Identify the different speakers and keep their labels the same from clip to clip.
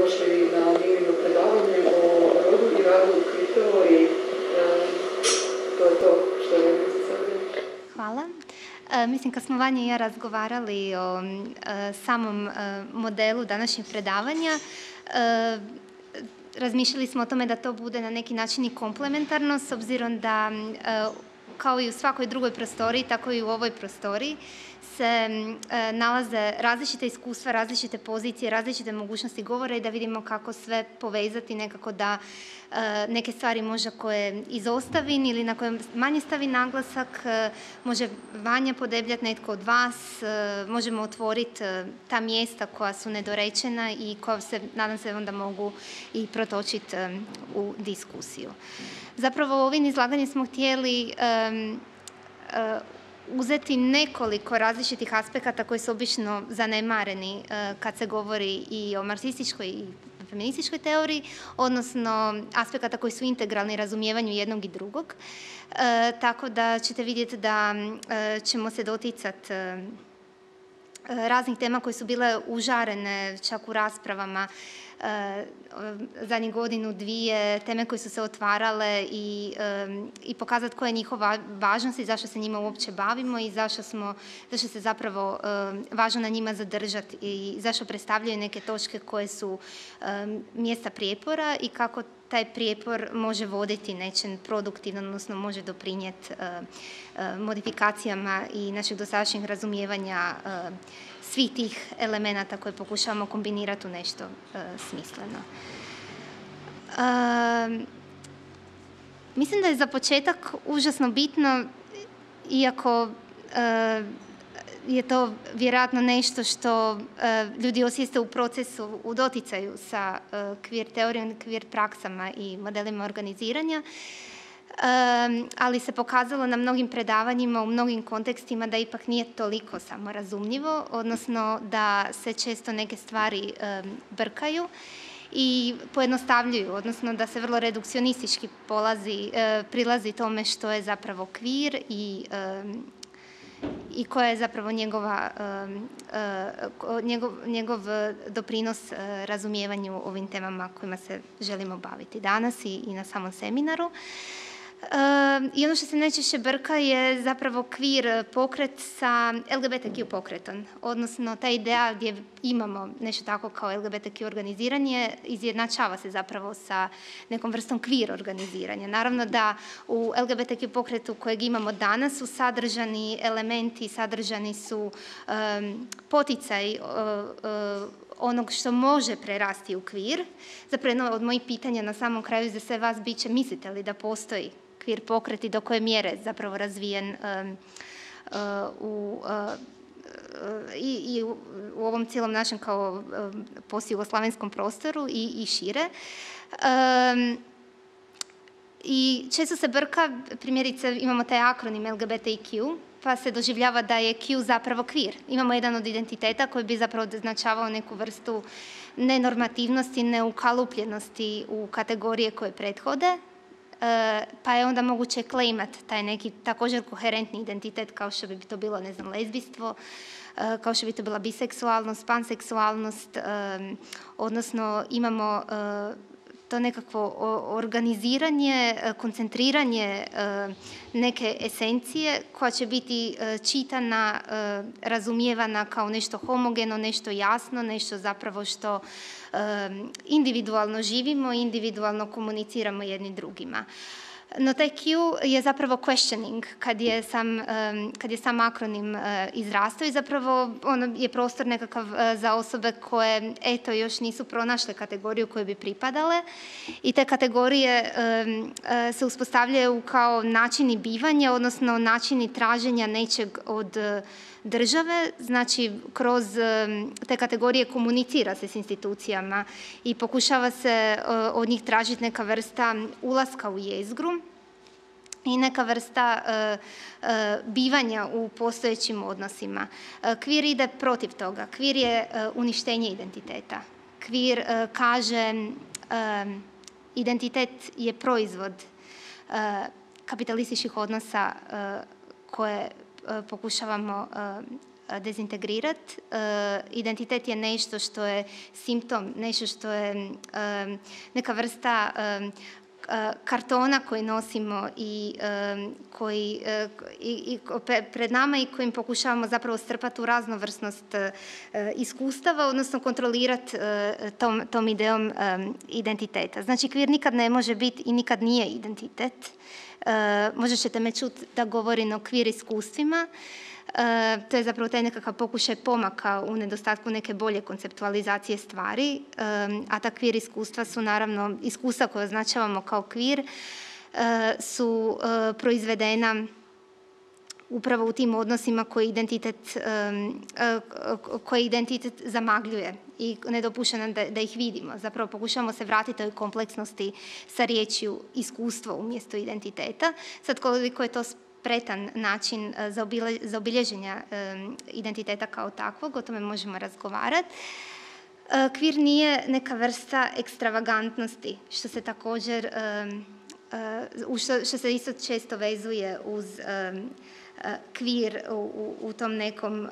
Speaker 1: dobrodošli na Milino predavanje o rodu i radu u queer teoriji. To je to što je za sada.
Speaker 2: Hvala. Mislim, kad smo Vanja i ja razgovarali o samom modelu današnjeg predavanja, razmišljali smo o tome da to bude na neki način i komplementarno, s obzirom da kao i u svakoj drugoj prostoriji, tako i u ovoj prostoriji se nalaze različite iskustva, različite pozicije, različite mogućnosti govora i da vidimo kako sve povezati nekako da neke stvari možda koje izostavim ili na koje manje stavi naglasak, može Vanja podebljati, netko od vas, možemo otvoriti ta mjesta koja su nedorečena i koja se, nadam se, onda mogu i protočiti u diskusiju. Zapravo ovim izlaganjem smo htjeli uzeti nekoliko različitih aspekata koji su obično zanemareni kad se govori i o marksističkoj i feminističkoj teoriji, odnosno aspekata koji su integralni razumijevanju jednog i drugog. Tako da ćete vidjeti da ćemo se doticati raznih tema koje su bile užarene čak u raspravama zadnjih godinu, dvije, teme koje su se otvarale i pokazati koja je njihova važnost i zašto se njima uopće bavimo i zašto se zapravo važno na njima zadržati i zašto predstavljaju neke točke koje su mjesta prijepora i kako taj prijepor može voditi nečem produktivno, odnosno može doprinijeti modifikacijama i našeg dosadašnjeg razumijevanja svih tih elemenata koje pokušavamo kombinirati u nešto smisleno. Mislim da je za početak užasno bitno, iako je to vjerojatno nešto što ljudi osvijeste u procesu, u doticaju sa queer teorijom, queer praksama i modelima organiziranja, ali se pokazalo na mnogim predavanjima, u mnogim kontekstima da ipak nije toliko samorazumljivo, odnosno da se često neke stvari brkaju i pojednostavljuju, odnosno da se vrlo redukcionistički prilazi tome što je zapravo queer i koja je zapravo njegov doprinos razumijevanju ovim temama kojima se želimo baviti danas i na samom seminaru. I ono što se najčešće brka je zapravo queer pokret sa LGBTQ pokretom, odnosno ta ideja gdje imamo nešto tako kao LGBTQ organiziranje izjednačava se zapravo sa nekom vrstom queer organiziranja. Naravno da u LGBTQ pokretu kojeg imamo danas su sadržani elementi, sadržani su poticaj onog što može prerasti u queer. Zapravo jedno od mojih pitanja na samom kraju za sve vas bit će: mislite li da postoji queer pokret i do koje mjere zapravo razvijen i u ovom cijelom našem kao postjugoslavenskom prostoru i šire. I često se brka, primjerice imamo taj akronim LGBTQ, pa se doživljava da je Q zapravo queer. Imamo jedan od identiteta koji bi zapravo označavao neku vrstu nenormativnosti, neukalupljenosti u kategorije koje prethode, pa je onda moguće klejmati taj neki također koherentni identitet kao što bi to bilo, ne znam, lezbijstvo, kao što bi to bila biseksualnost, panseksualnost, odnosno imamo to nekakvo organiziranje, koncentriranje neke esencije koja će biti čitana, razumijevana kao nešto homogeno, nešto jasno, nešto zapravo što individualno živimo i individualno komuniciramo jedni drugima. No taj Q je zapravo questioning kad je sam akronim izrastao i zapravo ono je prostor nekakav za osobe koje eto još nisu pronašle kategoriju koje bi pripadale i te kategorije se uspostavljaju kao načini bivanja, odnosno načini traženja nečeg od države, znači kroz te kategorije komunicira se s institucijama i pokušava se od njih tražiti neka vrsta ulaska u jezgru i neka vrsta bivanja u postojećim odnosima. Queer ide protiv toga. Queer je uništenje identiteta. Queer kaže identitet je proizvod kapitalističkih odnosa koje pokušavamo dezintegrirati. Identitet je nešto što je simptom, nešto što je neka vrsta kartona koji nosimo i koji pred nama i kojim pokušavamo zapravo strpati u raznovrsnost iskustava, odnosno kontrolirati tom idejom identiteta. Znači, kvir nikad ne može biti i nikad nije identitet. Možda ćete me čuti da govorim o kvir iskustvima. To je zapravo taj nekakav pokušaj pomaka u nedostatku neke bolje konceptualizacije stvari, a ta kvir iskustva su naravno iskustva koje označavamo kao kvir, su proizvedena upravo u tim odnosima koji identitet zamagljuje i ne dopušta nam da ih vidimo. Zapravo pokušavamo se vratiti toj kompleksnosti sa riječju iskustvo umjesto identiteta. Sad, koliko je to spretan način za obilježenja identiteta kao takvog, o tome možemo razgovarati. Kvir nije neka vrsta ekstravagantnosti, što se također, što se isto često vezuje uz kvir u tom nekom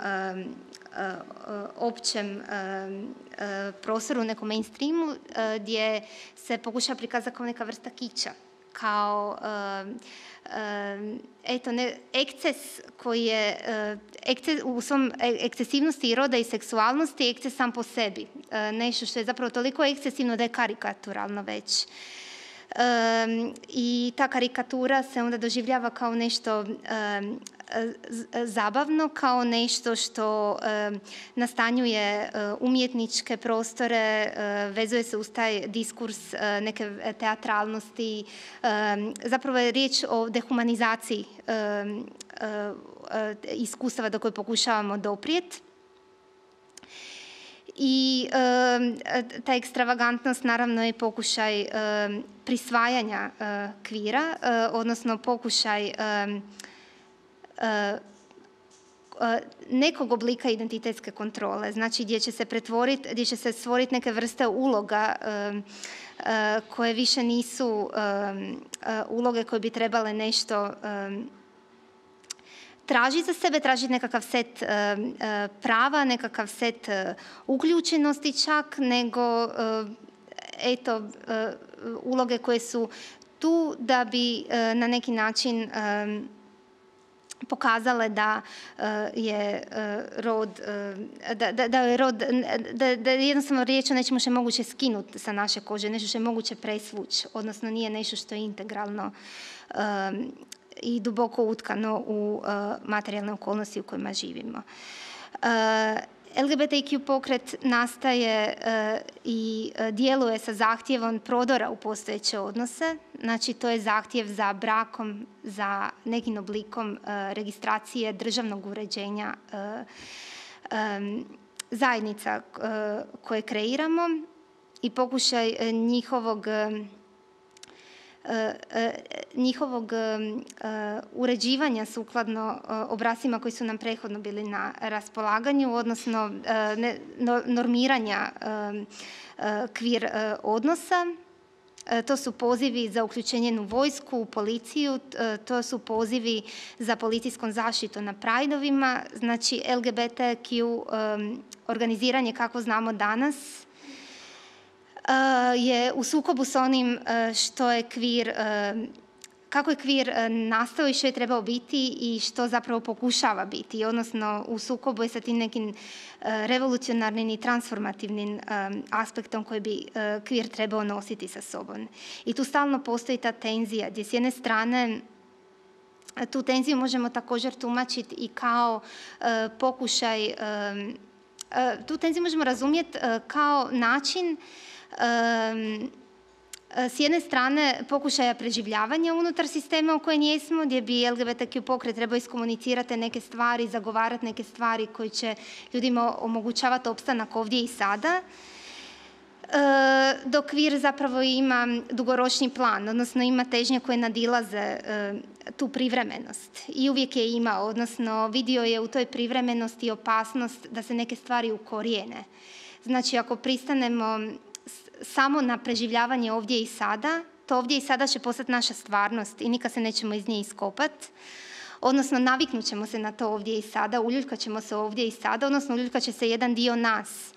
Speaker 2: općem prostoru, u nekom mainstreamu, gdje se pokuša prikazati kao neka vrsta kiča, kao eksces koji je u svom ekscesivnosti i roda i seksualnosti eksces sam po sebi. Nešto što je zapravo toliko ekscesivno da je karikaturalno već. I ta karikatura se onda doživljava kao nešto zabavno, kao nešto što nastanjuje umjetničke prostore, vezuje se uz taj diskurs neke teatralnosti. Zapravo je riječ o dehumanizaciji iskustava do koje pokušavamo doprijeti. I ta ekstravagantnost naravno je pokušaj prisvajanja kvira, odnosno pokušaj nekog oblika identitetske kontrole, znači gdje će se stvoriti neke vrste uloga koje više nisu uloge koje bi trebale nešto tražiti za sebe, tražiti nekakav set prava, nekakav set uključenosti čak, nego uloge koje su tu da bi na neki način pokazale da je rod, da je jednostavno riječ o nečemu što je moguće skinuti sa naše kože, nešto što je moguće presvući, odnosno nije nešto što je integralno i duboko utkano u materijalne okolnosti u kojima živimo. LGBTQ pokret nastaje i djeluje sa zahtjevom prodora u postojeće odnose. Znači, to je zahtjev za brakom, za nekim oblikom registracije državnog uređenja zajednica koje kreiramo i pokušaj njihovog uređivanja sukladno obrascima koji su nam prethodno bili na raspolaganju, odnosno normiranja kvir odnosa. To su pozivi za uključenje u vojsku, u policiju, to su pozivi za policijskom zaštitom na prajdovima. Znači, LGBTQ organiziranje kako znamo danas je u sukobu s onim što je kvir, kako je kvir nastao i što je trebao biti i što zapravo pokušava biti. Odnosno, u sukobu je sa tim nekim revolucionarnim i transformativnim aspektom koji bi kvir trebao nositi sa sobom. I tu stalno postoji ta tenzija gdje s jedne strane tu tenziju možemo također tumačiti i kao pokušaj, tu tenziju možemo razumjeti kao način s jedne strane pokušaja preživljavanja unutar sistema u kojem jesmo, gdje bi LGBTQ pokret trebao iskomunicirati neke stvari, zagovarati neke stvari koji će ljudima omogućavati opstanak ovdje i sada, dok kvir zapravo ima dugoročni plan, odnosno ima težnje koje nadilaze tu privremenost. I uvijek je imao, odnosno vidio je u toj privremenosti opasnost da se neke stvari ukorijene. Znači, ako pristanemo samo na preživljavanje ovdje i sada, to ovdje i sada će postati naša stvarnost i nikad se nećemo iz nje iskopati. odnosno naviknut ćemo se na to ovdje i sada, uljuljkat ćemo se ovdje i sada, odnosno uljuljkat će se jedan dio nas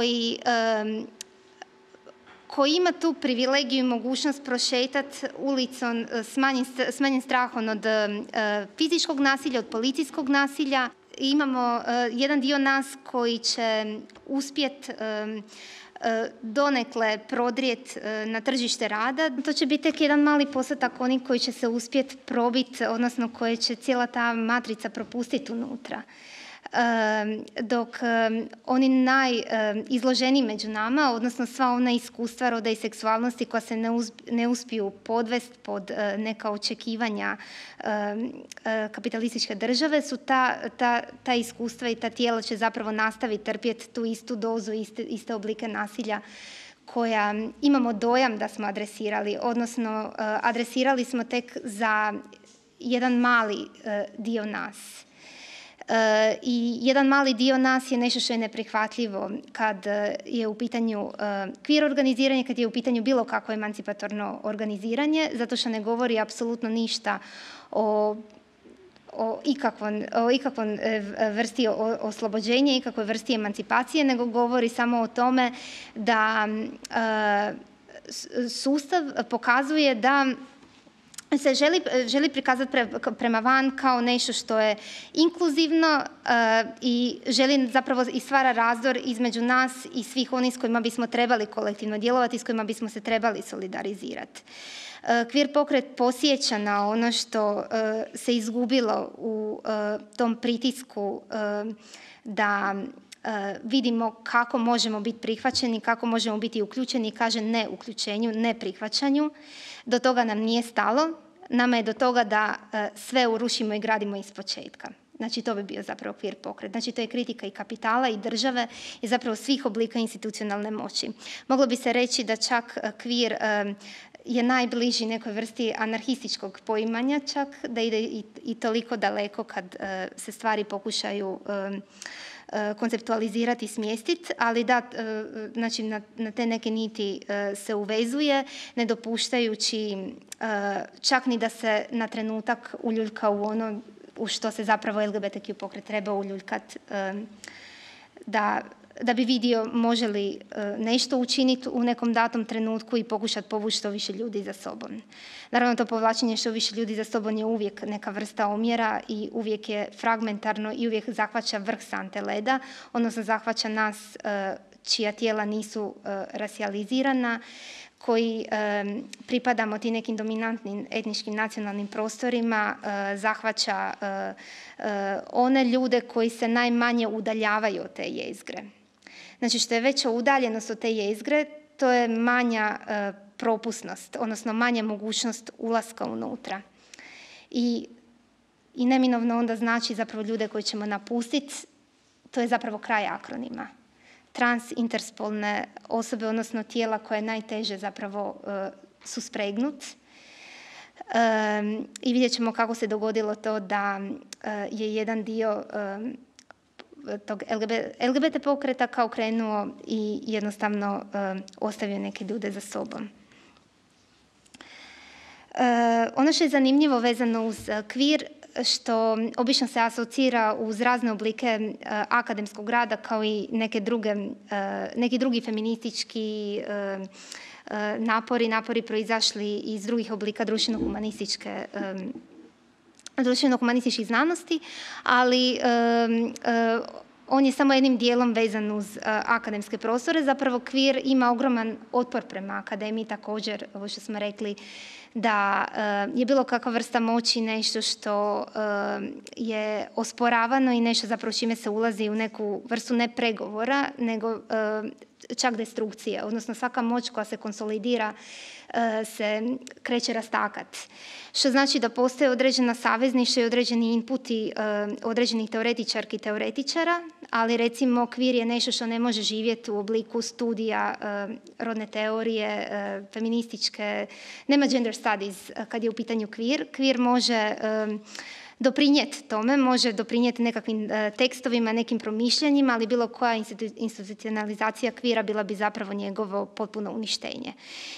Speaker 2: koji ima tu privilegiju i mogućnost prošetati ulicom s manjim strahom od fizičkog nasilja, od policijskog nasilja. Imamo jedan dio nas koji će uspjeti donekle prodrijet na tržište rada. To će biti tek jedan mali postotak onih koji će se uspjeti probiti, odnosno koje će cijela ta matrica propustiti unutra. Dok oni najizloženiji među nama, odnosno sva ona iskustva roda i seksualnosti koja se ne uspiju podvest pod neka očekivanja kapitalističke države, su ta iskustva i ta tijela će zapravo nastaviti trpjeti tu istu dozu, iste oblike nasilja koja imamo dojam da smo adresirali, odnosno adresirali smo tek za jedan mali dio nas. I jedan mali dio nas je nešto što je neprihvatljivo kad je u pitanju queer organiziranje, kad je u pitanju bilo kakvo emancipatorno organiziranje, zato što ne govori apsolutno ništa o ikakvom vrsti oslobođenja, ikakvoj vrsti emancipacije, nego govori samo o tome da sustav pokazuje da se želi prikazati prema van kao nešto što je inkluzivno i želi zapravo i stvara razdor između nas i svih onih s kojima bismo trebali kolektivno djelovati, s kojima bismo se trebali solidarizirati. Queer pokret posjeća na ono što se izgubilo u tom pritisku da vidimo kako možemo biti prihvaćeni, kako možemo biti uključeni, kaže ne uključenju, ne prihvaćanju. Do toga nam nije stalo, nama je do toga da sve urušimo i gradimo ispočetka. Znači to bi bio zapravo queer pokret. Znači to je kritika i kapitala i države i zapravo svih oblika institucionalne moći. Moglo bi se reći da čak queer je najbliži nekoj vrsti anarhističkog poimanja čak, da ide i toliko daleko kad se stvari pokušaju konceptualizirati i smjestiti, ali da, znači na te neke niti se uvezuje, ne dopuštajući čak ni da se na trenutak uljuljka u ono u što se zapravo LGBTQ pokret treba uljuljkati, da bi vidio može li nešto učiniti u nekom datom trenutku i pokušati povući što više ljudi za sobom. Naravno, to povlačenje što više ljudi za sobom je uvijek neka vrsta omjera i uvijek je fragmentarno i uvijek zahvaća vrh sante leda, odnosno zahvaća nas čija tijela nisu rasijalizirana, koji pripadamo ti nekim dominantnim etničkim nacionalnim prostorima, zahvaća one ljude koji se najmanje udaljavaju od te jezgre. Znači što je veća udaljenost od te jezgre, to je manja propusnost, odnosno manja mogućnost ulaska unutra. I neminovno onda znači zapravo ljude koji ćemo napustiti, to je zapravo kraj akronima. Transinterspolne osobe, odnosno tijela koje najteže zapravo su spregnut. I vidjet ćemo kako se dogodilo to da je jedan dio tog LGBT pokreta kao krenuo i jednostavno ostavio neke ljude za sobom. Ono što je zanimljivo vezano uz queer, što obično se asocira uz razne oblike akademskog rada kao i neki drugi feministički napori proizašli iz drugih oblika društveno-humanističkih znanosti, ali on je samo jednim dijelom vezan uz akademske prostore. Zapravo queer ima ogroman otpor prema akademiji također, ovo što smo rekli, da je bilo kakva vrsta moći nešto što je osporavano i nešto zapravo čime se ulazi u neku vrstu ne pregovora, nego čak destrukcije. Odnosno svaka moć koja se konsolidira se kreće rastakat. Što znači da postoje određena savezništva i određeni inputi određenih teoretičarki i teoretičara, ali recimo queer je nešto što ne može živjeti u obliku studija rodne teorije, feminističke, nema gender studies kad je u pitanju queer. Queer može doprinijeti tome, može doprinijeti nekakvim tekstovima, nekim promišljanjima, ali bilo koja institucionalizacija kvira bila bi zapravo njegovo potpuno uništenje.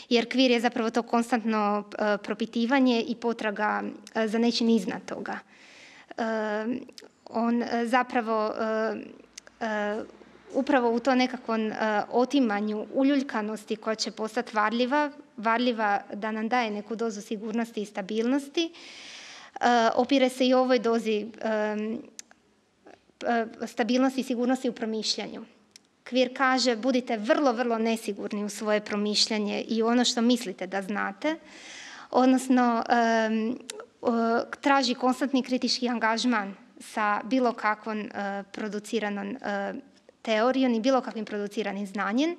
Speaker 2: Jer kvir je zapravo to konstantno propitivanje i potraga za nečim iznad toga. On zapravo upravo u to nekakvom otimanju uljuljkanosti koja će postati varljiva da nam daje neku dozu sigurnosti i stabilnosti, opire se i ovoj dozi stabilnosti i sigurnosti u promišljanju. Kvir kaže budite vrlo, vrlo nesigurni u svoje promišljanje i ono što mislite da znate, odnosno traži konstantni kritički angažman sa bilo kakvom produciranom teorijom i bilo kakvim produciranim znanjem,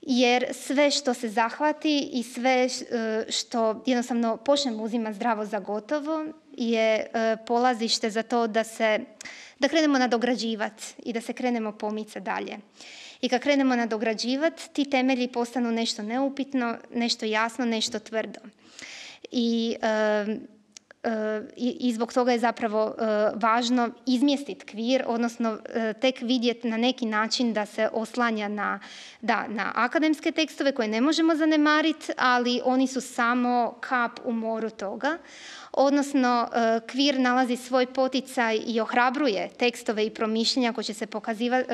Speaker 2: jer sve što se zahvati i sve što jednostavno počnemo uzimati zdravo za gotovo je polazište za to da krenemo nadograđivati i da se krenemo pomicati dalje. I kad krenemo nadograđivati, ti temelji postanu nešto neupitno, nešto jasno, nešto tvrdo. I zbog toga je zapravo važno izmjestiti kvir, odnosno tek vidjeti na neki način da se oslanja na akademske tekstove koje ne možemo zanemariti, ali oni su samo kap u moru toga. Odnosno, kvir nalazi svoj poticaj i ohrabruje tekstove i promišljenja koje će se pokazivati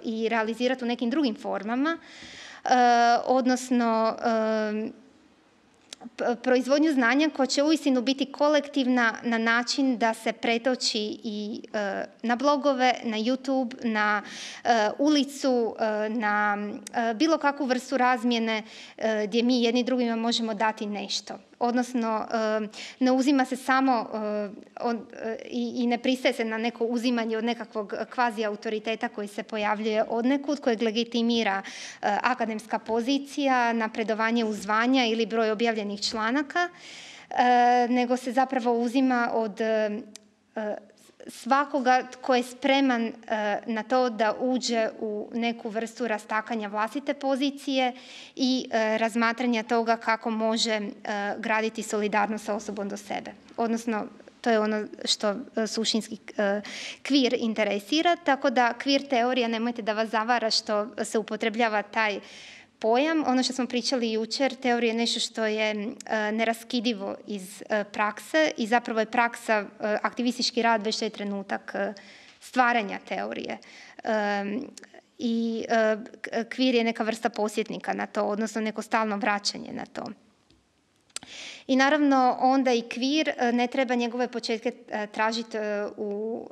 Speaker 2: i realizirati u nekim drugim formama, odnosno proizvodnju znanja koja će uistinu biti kolektivna na način da se pretoči i na blogove, na YouTube, na ulicu, na bilo kakvu vrstu razmjene gdje mi jedni drugima možemo dati nešto. Odnosno, ne uzima se samo i ne pristaje se na neko uzimanje od nekakvog kvazi autoriteta koji se pojavljuje odnekud, kojeg legitimira akademska pozicija, napredovanje u zvanja ili broj objavljenih članaka, nego se zapravo uzima od svakoga tko je spreman na to da uđe u neku vrstu rastakanja vlastite pozicije i razmatranja toga kako može graditi solidarnost sa osobom do sebe. Odnosno, to je ono što suštinski kvir interesira, tako da kvir teorija, nemojte da vas zavara što se upotrebljava taj pojam. Ono što smo pričali jučer, teorija je nešto što je neraskidivo iz prakse i zapravo je praksa, aktivistički rad već je trenutak stvaranja teorije. I kvir je neka vrsta podsjetnika na to, odnosno neko stalno vraćanje na to. I naravno onda i kvir ne treba njegove početke tražiti u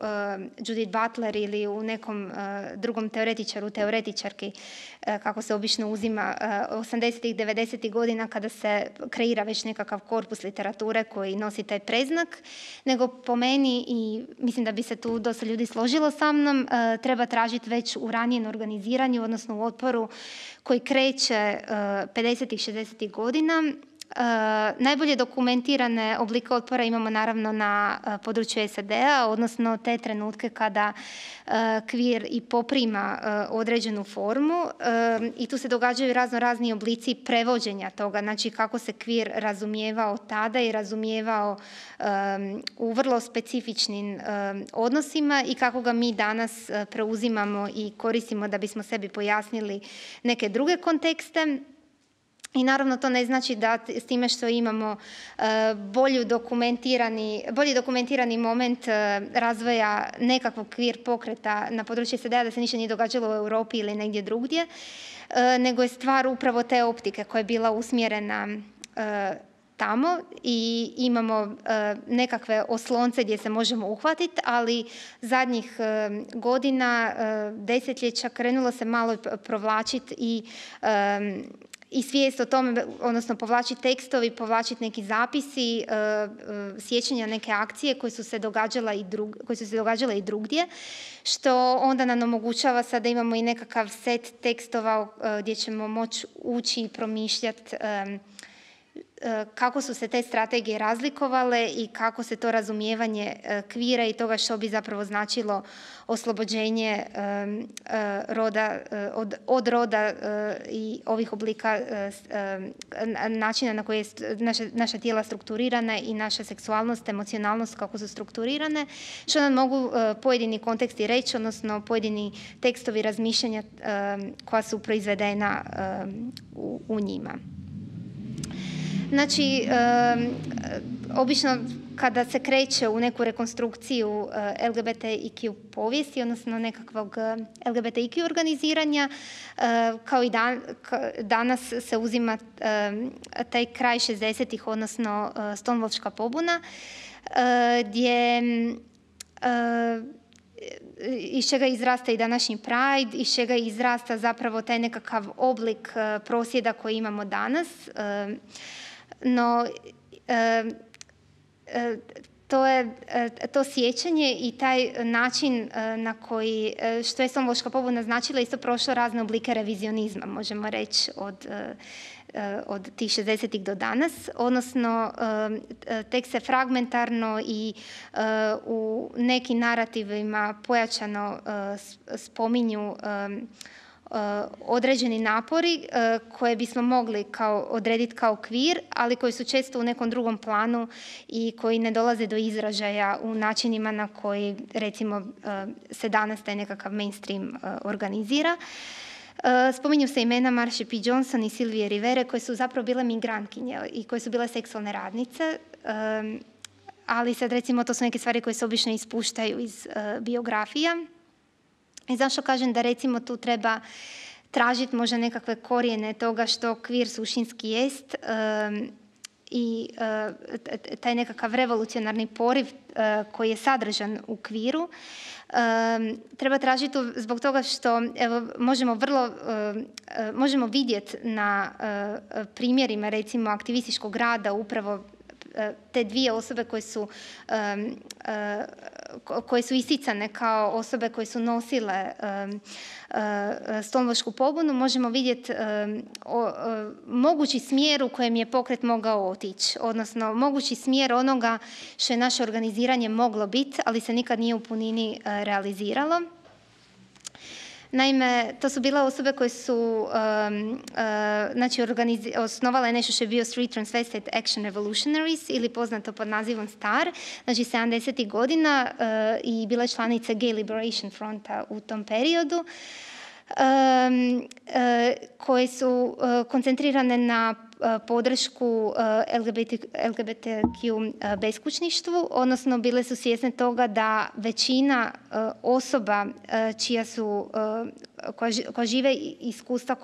Speaker 2: Judith Butler ili u nekom drugom teoretičaru, teoretičarki, kako se obično uzima 80-ih, 90-ih godina kada se kreira već nekakav korpus literature koji nosi taj preznak, nego po meni, i mislim da bi se tu dosta ljudi složilo sa mnom, treba tražiti već u ranijem organiziranju, odnosno u otporu koji kreće 50-ih, 60-ih godina. Najbolje dokumentirane oblike otpora imamo naravno na području SAD-a, odnosno te trenutke kada kvir i poprima određenu formu i tu se događaju razni oblici prevođenja toga, znači kako se kvir razumijevao tada i razumijevao u vrlo specifičnim odnosima i kako ga mi danas preuzimamo i koristimo da bismo sebi pojasnili neke druge kontekste. I naravno to ne znači da s time što imamo bolji dokumentirani moment razvoja nekakvog kvir pokreta na području SAD-a da se ništa nije događalo u Europi ili negdje drugdje, nego je stvar upravo te optike koja je bila usmjerena tamo i imamo nekakve oslonce gdje se možemo uhvatiti, ali zadnjih godina, desetljeća krenulo se malo provlačiti i svijest o tome, odnosno povlačiti tekstovi, povlačiti neki zapisi, sjećanja neke akcije koje su se događale i drugdje, što onda nam omogućava sad da imamo i nekakav set tekstova gdje ćemo moći ući i promišljati kako su se te strategije razlikovale i kako se to razumijevanje kvira i toga što bi zapravo značilo oslobođenje roda, od roda i ovih oblika načina na koje naša tijela strukturirana i naša seksualnost, emocionalnost kako su strukturirane, što nam mogu pojedini konteksti reći, odnosno pojedini tekstovi razmišljanja koja su proizvedena u njima. Znači, obično kada se kreće u neku rekonstrukciju LGBTIQ povijesti, odnosno nekakvog LGBTIQ organiziranja, kao i danas se uzima taj kraj 60-ih, odnosno Stonewallška pobuna, gdje iz čega izrasta i današnji Pride, iz čega izrasta zapravo taj nekakav oblik prosvjeda koji imamo danas. No, to sjećanje i taj način na koji, što je Stonewallška pobuna značila, isto prošlo razne oblike revizionizma, možemo reći, od tih 60-ih do danas, odnosno tek se fragmentarno i u nekim narativima pojačano spominju određeni napori koje bismo mogli odrediti kao kvir, ali koji su često u nekom drugom planu i koji ne dolaze do izražaja u načinima na koji, recimo, se danas taj nekakav mainstream organizira. Spominju se imena Marshe P. Johnson i Sylvie Rivere, koje su zapravo bile migrantkinje i koje su bile seksualne radnice, ali sad, recimo, to su neke stvari koje se obično ispuštaju iz biografija. I zašto kažem da, recimo, tu treba tražiti možda nekakve korijene toga što kvir suštinski jest i taj nekakav revolucionarni poriv koji je sadržan u kviru. Treba tražiti zbog toga što možemo vidjeti na primjerima, recimo, aktivističkog rada upravo te dvije osobe koje su isticane kao osobe koje su nosile Stonewallšku pobunu, možemo vidjeti mogući smjer u kojem je pokret mogao otići, odnosno mogući smjer onoga što je naše organiziranje moglo biti, ali se nikad nije u punini realiziralo. Naime, to su bile osobe koje su osnovale nešto što je bio Street Transvestite Action Revolutionaries, ili poznato pod nazivom STAR, znači 70. godina, i bile članice Gay Liberation Fronta u tom periodu, koje su koncentrirane na podršku LGBTQ beskućništvu, odnosno bile su svjesne toga da većina osoba koja žive iskustva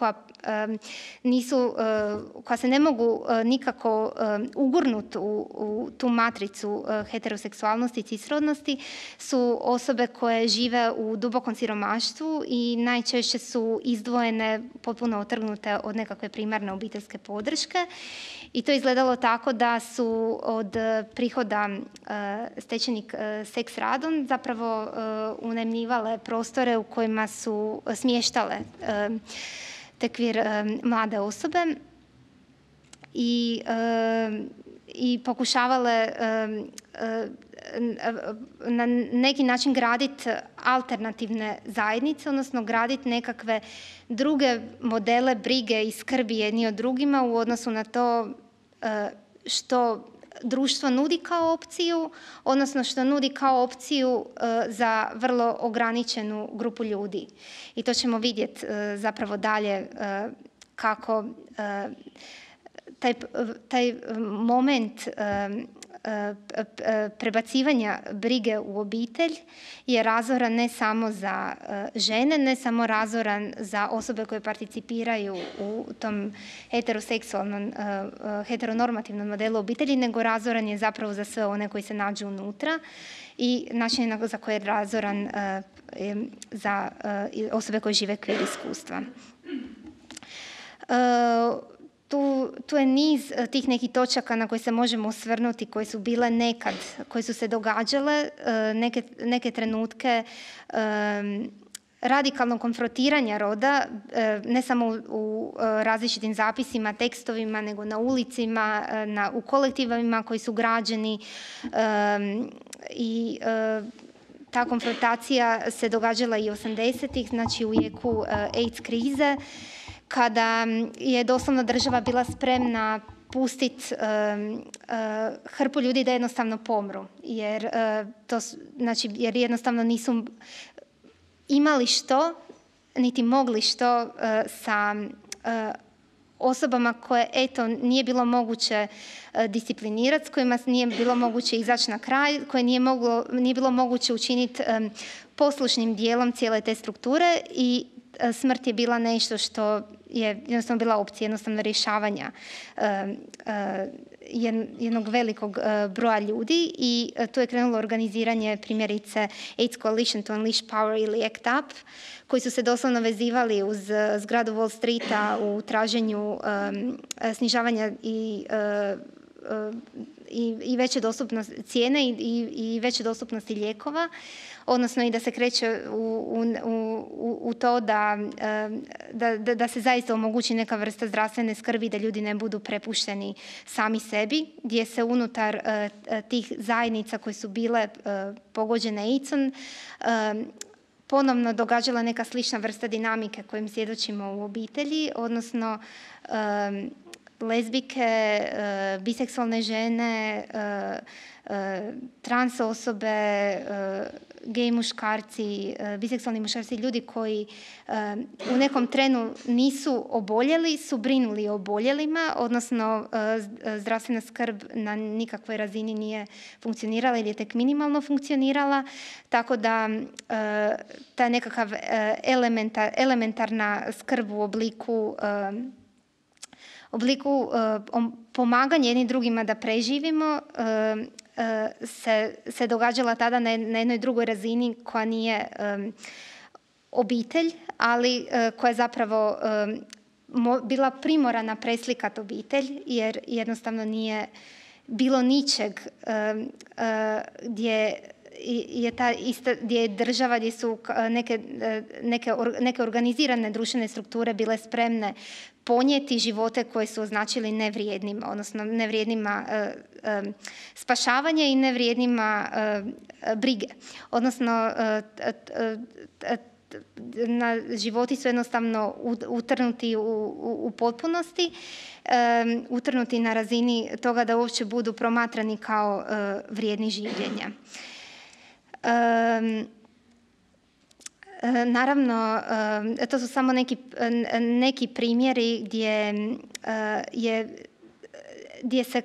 Speaker 2: koja se ne mogu nikako ugurnuti u tu matricu heteroseksualnosti i cisrodnosti, su osobe koje žive u dubokom siromaštvu i najčešće su izdvojene, potpuno otrgnute od nekakve primarne obiteljske podrške. I to je izgledalo tako da su od prihoda stečenih seks radom zapravo unajmljivale prostore u kojima su smještale te kvir mlade osobe i pokušavale na neki način graditi alternativne zajednice, odnosno graditi nekakve druge modele brige i skrbi jedni od drugima u odnosu na to što društvo nudi kao opciju, odnosno što nudi kao opciju za vrlo ograničenu grupu ljudi. I to ćemo vidjeti zapravo dalje kako taj moment prebacivanja brige u obitelj je razoran ne samo za žene, ne samo razoran za osobe koje participiraju u tom heteronormativnom modelu obitelji, nego razoran je zapravo za sve one koji se nađu unutra i način za koji je razoran za osobe koje žive kvir iskustva. Tu je niz tih nekih točaka na koje se možemo osvrnuti, koje su bile nekad, koje su se događale, neke trenutke radikalnog konfrontiranja roda, ne samo u različitim zapisima, tekstovima, nego na ulicima, u kolektivima koji su građeni i ta konfrontacija se događala i 80-ih, znači u jeku AIDS krize, kada je doslovno država bila spremna pustiti hrpu ljudi da jednostavno pomru, jer jednostavno nisu imali što, niti mogli što sa osobama koje, nije bilo moguće disciplinirati, s kojima nije bilo moguće izaći na kraj, koje nije bilo moguće učiniti poslušnim dijelom cijele te strukture i smrt je bila nešto što je jednostavno bila opcija jednostavno rješavanja jednog velikog broja ljudi i tu je krenulo organiziranje primjerice AIDS Coalition to Unleash Power ili ACT UP, koji su se doslovno vezivali uz zgradu Wall Streeta u traženju snižavanja i veće dostupnosti cijene i veće dostupnosti lijekova, odnosno i da se kreće u to da se zaista omogući neka vrsta zdravstvene skrbi, da ljudi ne budu prepušteni sami sebi, gdje se unutar tih zajednica koje su bile pogođene AIDS-om ponovno događala neka slična vrsta dinamike kojim svjedočimo u obitelji, odnosno lezbike, biseksualne žene, trans osobe, gej muškarci, biseksualni muškarci, ljudi koji u nekom trenu nisu oboljeli, su brinuli o oboljelima, odnosno zdravstvena skrb na nikakvoj razini nije funkcionirala ili je tek minimalno funkcionirala, tako da ta nekakav elementarna skrb u obliku pomaganja jednim drugima da preživimo se događala tada na jednoj drugoj razini koja nije obitelj, ali koja je zapravo bila primorana preslikati obitelj, jer jednostavno nije bilo ničeg gdje je država, gdje su neke organizirane društvene strukture bile spremne ponijeti živote koje su označili nevrijednima, odnosno nevrijednima spašavanja i nevrijednima brige. Odnosno, životi su jednostavno utrnuti u potpunosti, utrnuti na razini toga da uopće budu promatrani kao vrijedni življenja. Naravno, to su samo neki primjeri gdje se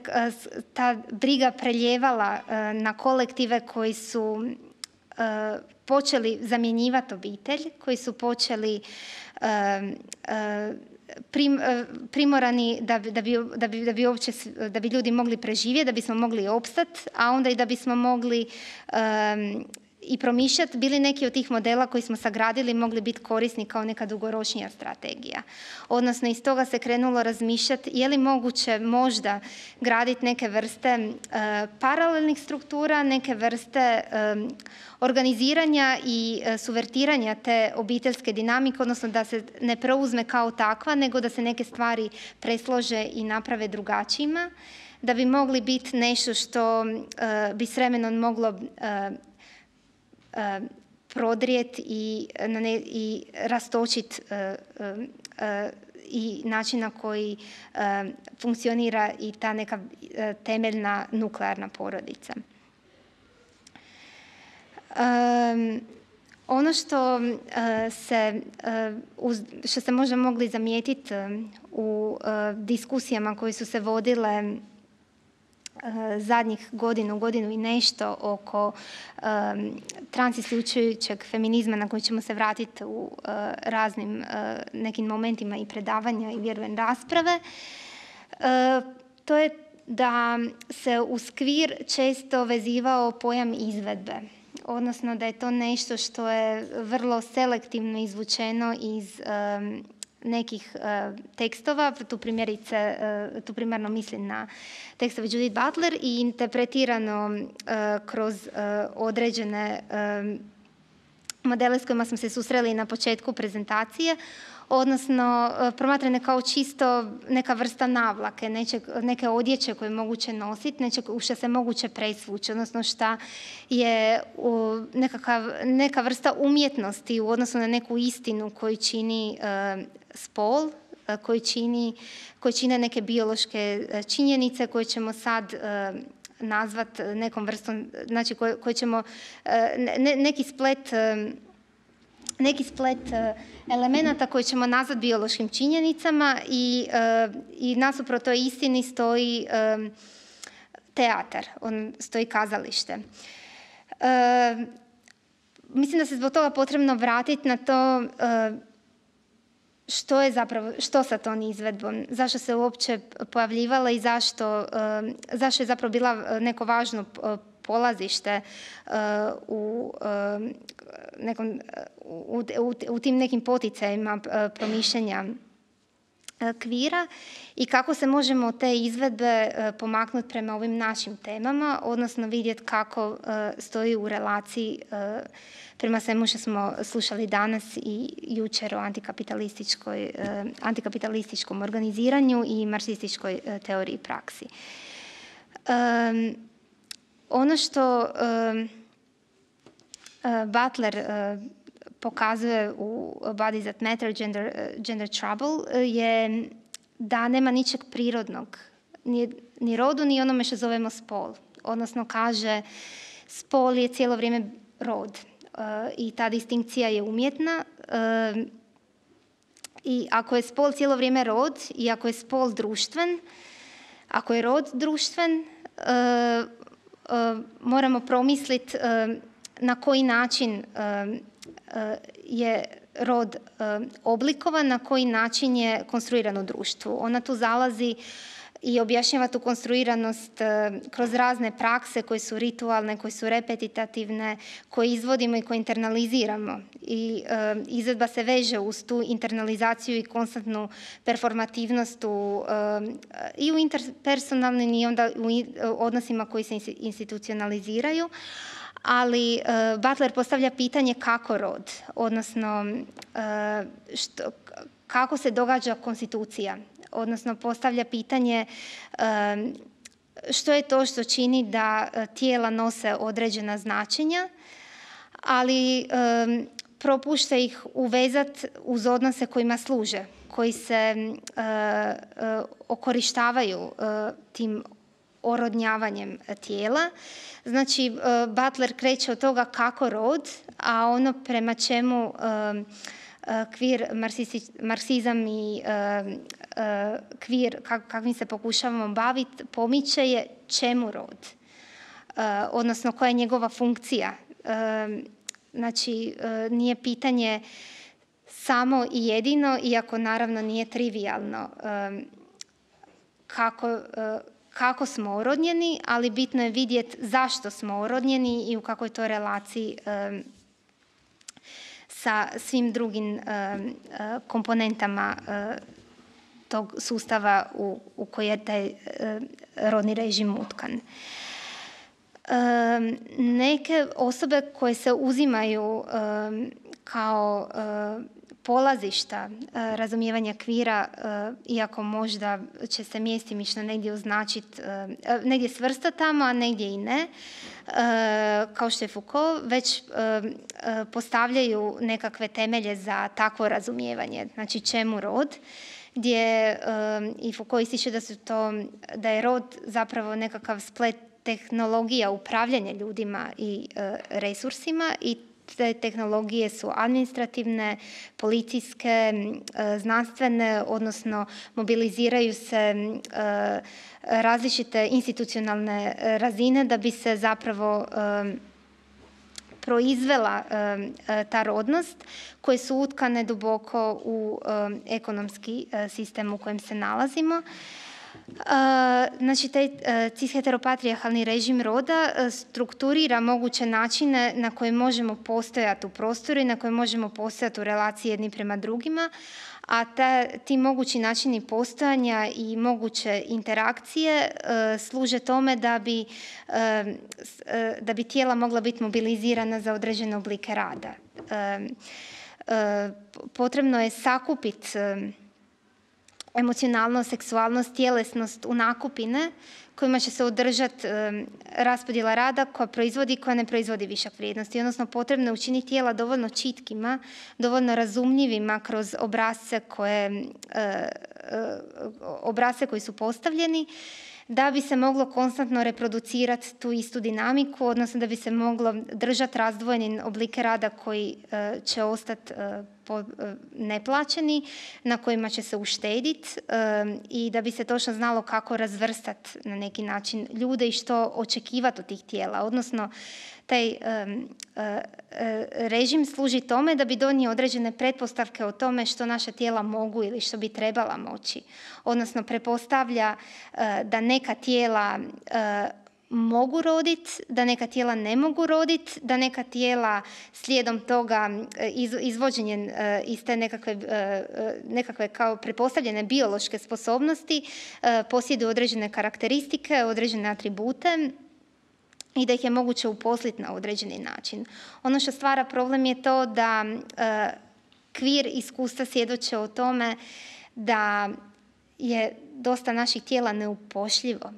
Speaker 2: ta briga preljevala na kolektive koji su počeli zamjenjivati obitelj, koji su počeli primorani da bi ljudi mogli preživjeti, da bismo mogli opstati, a onda i da bismo mogli i promišljati bili neki od tih modela koji smo sagradili mogli biti korisni kao neka dugoročnija strategija. Odnosno, iz toga se krenulo razmišljati je li moguće možda graditi neke vrste paralelnih struktura, neke vrste organiziranja i suvertiranja te obiteljske dinamike, odnosno da se ne preuzme kao takva, nego da se neke stvari preslože i naprave drugačijima, da bi mogli biti nešto što bi s vremenom moglo prodrijeti i rastočiti i način na koji funkcionira i ta neka temeljna nuklearna porodica. Ono što ste možda mogli zamijetiti u diskusijama koje su se vodile zadnjih godinu i nešto oko transisključujućeg feminizma, na koji ćemo se vratiti u raznim nekim momentima i predavanja i vjerujem rasprave, to je da se uz kvir često vezivao pojam izvedbe, odnosno da je to nešto što je vrlo selektivno izvučeno iz nekih tekstova, tu primarno mislim na tekstove Judith Butler i interpretirano kroz određene modele s kojima smo se susreli na početku prezentacije, odnosno promatrane kao čisto neka vrsta navlake, neke odjeće koje je moguće nositi, u što se moguće presvući, odnosno šta je neka vrsta umjetnosti u odnosu na neku istinu koju čini spol, koji čine neke biološke činjenice koje ćemo sad nazvat nekom vrstom, znači koje ćemo neki splet elemenata koji ćemo nazvat biološkim činjenicama i nasuprot toj istini stoji teatar, stoji kazalište. Mislim da se zbog toga potrebno vratiti na to što sa tom izvedbom, zašto se uopće pojavljivala i zašto je zapravo bila neko važno polazište u tim nekim poticajima promišljanja kvira i kako se možemo od te izvedbe pomaknuti prema ovim našim temama, odnosno vidjeti kako stoji u relaciji prema svemu što smo slušali danas i jučer o antikapitalističkom organiziranju i marksističkoj teoriji praksi. Ono što Butler pokazuje u Bodies That Matter, Gender Trouble, je da nema ničeg prirodnog, ni rodu, ni onome što zovemo spol. Odnosno kaže, spol je cijelo vrijeme rod i ta distinkcija je umjetna i ako je spol cijelo vrijeme rod i ako je spol društven, ako je rod društven, moramo promisliti na koji način je rod oblikovan, na koji način je konstruiran u društvu. Ona tu zalazi i objašnjava tu konstruiranost kroz razne prakse koje su ritualne, koje su repetitivne, koje izvodimo i koje internaliziramo. I izvedba se veže uz tu internalizaciju i konstantnu performativnost i u interpersonalnim i onda u odnosima koji se institucionaliziraju. Ali Butler postavlja pitanje kako rod, odnosno kako se događa konstitucija, odnosno postavlja pitanje što je to što čini da tijela nose određena značenja, ali propušta ih uvezati uz odnose kojima služe, koji se okorištavaju tim orodnjavanjem tijela. Znači, Butler kreće od toga kako rod, a ono prema čemu kvir, marksizam i kvir, kakvim se pokušavamo baviti, pomiče je čemu rod, odnosno koja je njegova funkcija. Znači, nije pitanje samo i jedino, iako naravno nije trivijalno kako smo orodnjeni, ali bitno je vidjeti zašto smo orodnjeni i u kakvoj to relaciji sa svim drugim komponentama tog sustava u koji je taj rodni režim utkan. Neke osobe koje se uzimaju kao polazišta razumijevanja kvira, iako možda će se mjestimično negdje označiti, negdje svrstati tamo, a negdje i ne, kao što je Foucault, već postavljaju nekakve temelje za takvo razumijevanje. Znači, čemu rod, gdje i Foucault ističe da je rod zapravo nekakav splet tehnologija upravljanja ljudima i resursima i te tehnologije su administrativne, policijske, znanstvene, odnosno mobiliziraju se različite institucionalne razine da bi se zapravo proizvela ta rodnost koje su utkane duboko u ekonomski sistem u kojem se nalazimo. Znači, taj cis-heteropatrijarhalni režim roda strukturira moguće načine na koje možemo postojati u prostoru i na koje možemo postojati u relaciji jedni prema drugima, a ti mogući načini postojanja i moguće interakcije služe tome da bi tijela mogla biti mobilizirana za određene oblike rada. potrebno je sakupiti emocionalnost, seksualnost, tjelesnost u nakupine kojima će se održati raspodjela rada koja proizvodi i koja ne proizvodi višak vrijednosti. Odnosno, potrebno je učiniti tijela dovoljno čitkima, dovoljno razumljivima kroz obrasce koji su postavljeni, da bi se moglo konstantno reproducirati tu istu dinamiku, odnosno da bi se moglo držati razdvojeni oblike rada koji će ostati neplaćeni, na kojima će se uštediti i da bi se točno znalo kako razvrstati na neki način ljude i što očekivati od tih tijela. Odnosno, taj režim služi tome da bi donio određene pretpostavke o tome što naša tijela mogu ili što bi trebala moći. Odnosno, prepostavlja da neka tijela mogu roditi, da neka tijela ne mogu roditi, da neka tijela slijedom toga izvođenjem iz te nekakve kao prepostavljene biološke sposobnosti posjeduju određene karakteristike, određene atribute i da ih je moguće uposliti na određeni način. Ono što stvara problem je to da kvir iskustva svjedoče o tome da je dosta naših tijela neupošljivo.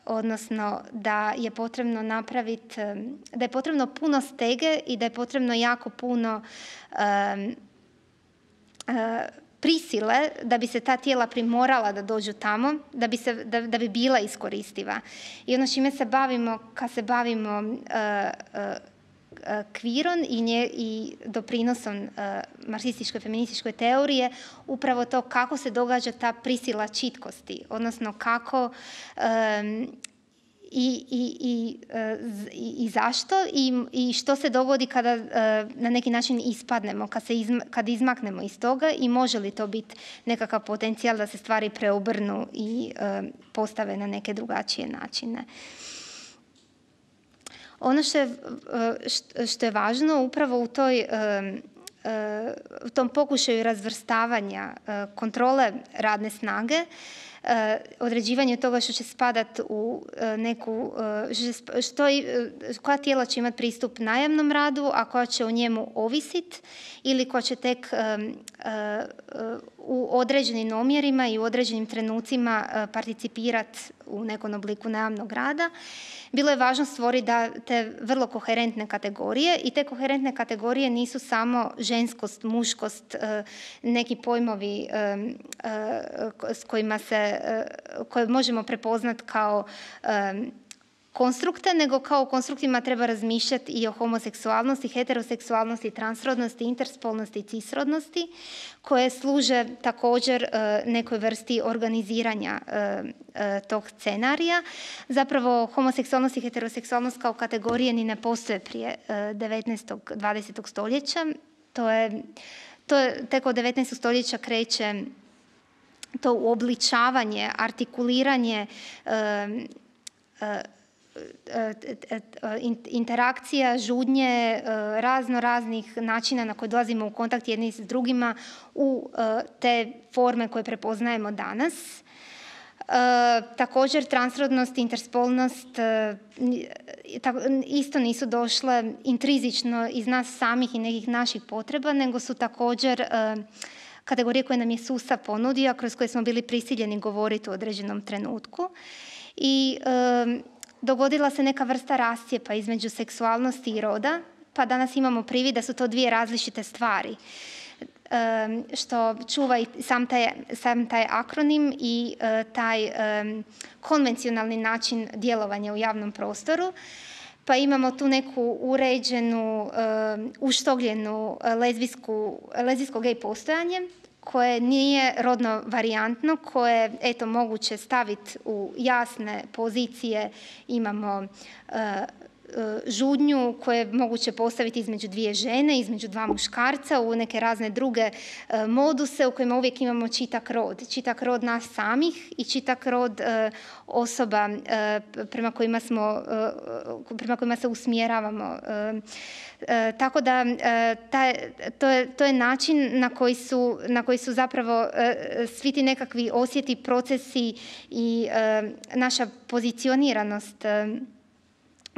Speaker 2: Odnosno da je potrebno napraviti, da je potrebno puno stege i da je potrebno jako puno prisile da bi se ta tijela primorala da dođu tamo, da bi bila iskoristiva. I ono čime se bavimo, kad se bavimo kvirom i doprinosom marksističkoj feminističkoj teorije, upravo to kako se događa ta prisila čitkosti, odnosno kako i zašto i što se dogodi kada na neki način ispadnemo, kad izmaknemo iz toga i može li to biti nekakav potencijal da se stvari preobrnu i postave na neke drugačije načine. Ono što je važno upravo u tom pokušaju razvrstavanja kontrole radne snage, određivanje toga što će spadati u neku, koja tijela će imati pristup najamnom radu, a koja će o njemu ovisiti ili koja će tek u određenim omjerima i u određenim trenucima participirati u nekom obliku najamnog rada. Bilo je važno stvoriti te vrlo koherentne kategorije i te koherentne kategorije nisu samo ženskost, muškost, neki pojmovi koje možemo prepoznati kao konstrukte, nego kao konstruktima treba razmišljati i o homoseksualnosti, heteroseksualnosti, transrodnosti, interspolnosti i cisrodnosti, koje služe također nekoj vrsti organiziranja tog scenarija. Zapravo, homoseksualnost i heteroseksualnost kao kategorije ni ne postoje prije 19. 20. stoljeća. To je tek od 19. stoljeća kreće to uobličavanje, artikuliranje interakcija, žudnje, raznih načina na koje dolazimo u kontakt jedni s drugima u te forme koje prepoznajemo danas. Također, transrodnost, interspolnost isto nisu došle intrizično iz nas samih i nekih naših potreba, nego su također kategorije koje nam je sustav ponudio, kroz koje smo bili prisiljeni govoriti u određenom trenutku. I dogodila se neka vrsta rascijepa između seksualnosti i roda, pa danas imamo privid da su to dvije različite stvari, što čuva i sam taj akronim i taj konvencionalni način djelovanja u javnom prostoru. Pa imamo tu neku uređenu, uštogljenu lezbijsko gej postojanje, koje nije rodno varijantno, koje je moguće staviti u jasne pozicije. Imamo žudnju koje je moguće postaviti između dvije žene, između dva muškarca, u neke razne druge moduse u kojima uvijek imamo čitak rod. Čitak rod nas samih i čitak rod osoba prema kojima se usmjeravamo. Tako da to je način na koji su zapravo svi ti nekakvi osjeti, procesi i naša pozicioniranost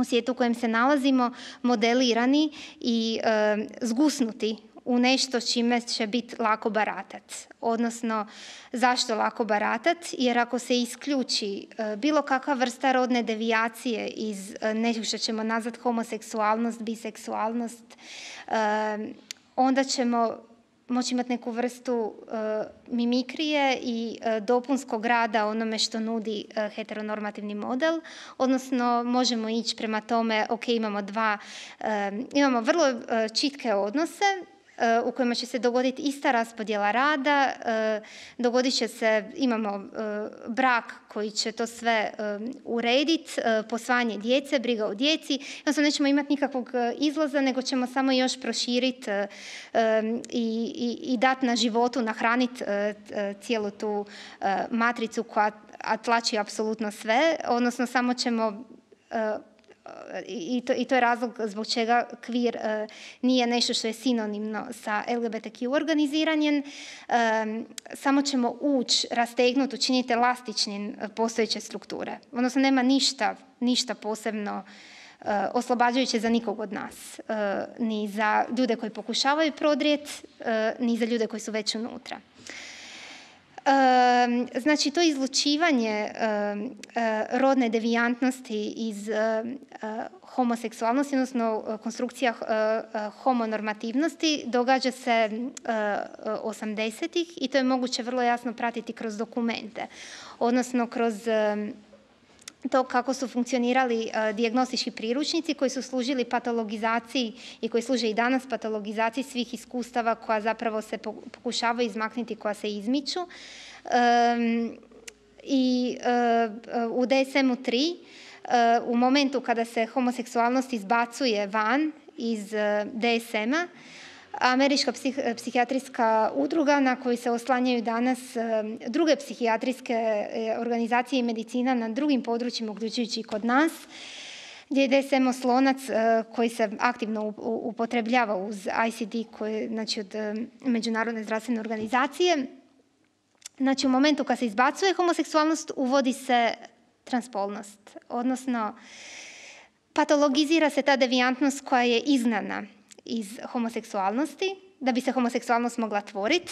Speaker 2: u svijetu u kojem se nalazimo modelirani i zgusnuti u nešto s čime će biti lako baratat. Odnosno, zašto lako baratat? Jer ako se isključi bilo kakva vrsta rodne devijacije iz nešto što ćemo nazvati homoseksualnost, biseksualnost, onda ćemo moći imati neku vrstu mimikrije i dopunskog rada onome što nudi heteronormativni model, odnosno možemo ići prema tome, ok, imamo vrlo čitke odnose u kojima će se dogoditi ista raspodjela rada, dogodit će se, imamo brak koji će to sve urediti, posvajanje djece, briga o djeci, odnosno nećemo imati nikakvog izlaza, nego ćemo samo još proširiti i dati na životu, nahraniti cijelu tu matricu koja tlači apsolutno sve, odnosno samo ćemo I to je razlog zbog čega queer nije nešto što je sinonimno sa LGBTQ organiziranjem. Samo ćemo ući, rastegnuti, učiniti elastičnim postojeće strukture. Odnosno nema ništa posebno oslobađajuće za nikog od nas. Ni za ljude koji pokušavaju prodrijeti, ni za ljude koji su već unutra. Znači, to izlučivanje rodne devijantnosti iz homoseksualnosti, odnosno konstrukcija homonormativnosti, događa se 80-ih i to je moguće vrlo jasno pratiti kroz dokumente, odnosno kroz to kako su funkcionirali dijagnostički priručnici koji su služili patologizaciji i koji služe i danas patologizaciji svih iskustava koja zapravo se pokušavaju izmaknuti, koja se izmiču. I u DSM-u 3, u momentu kada se homoseksualnost izbacuje van iz DSM-a, Američka psihijatrijska udruga na koju se oslanjaju danas druge psihijatrijske organizacije i medicina na drugim područjima, uključujući i kod nas, gdje je DSM oslonac koji se aktivno upotrebljava uz ICD, znači od Međunarodne zdravstvene organizacije. Znači, u momentu kad se izbacuje homoseksualnost, uvodi se transpolnost, odnosno patologizira se ta devijantnost koja je izgnana iz homoseksualnosti, da bi se homoseksualnost mogla tvoriti,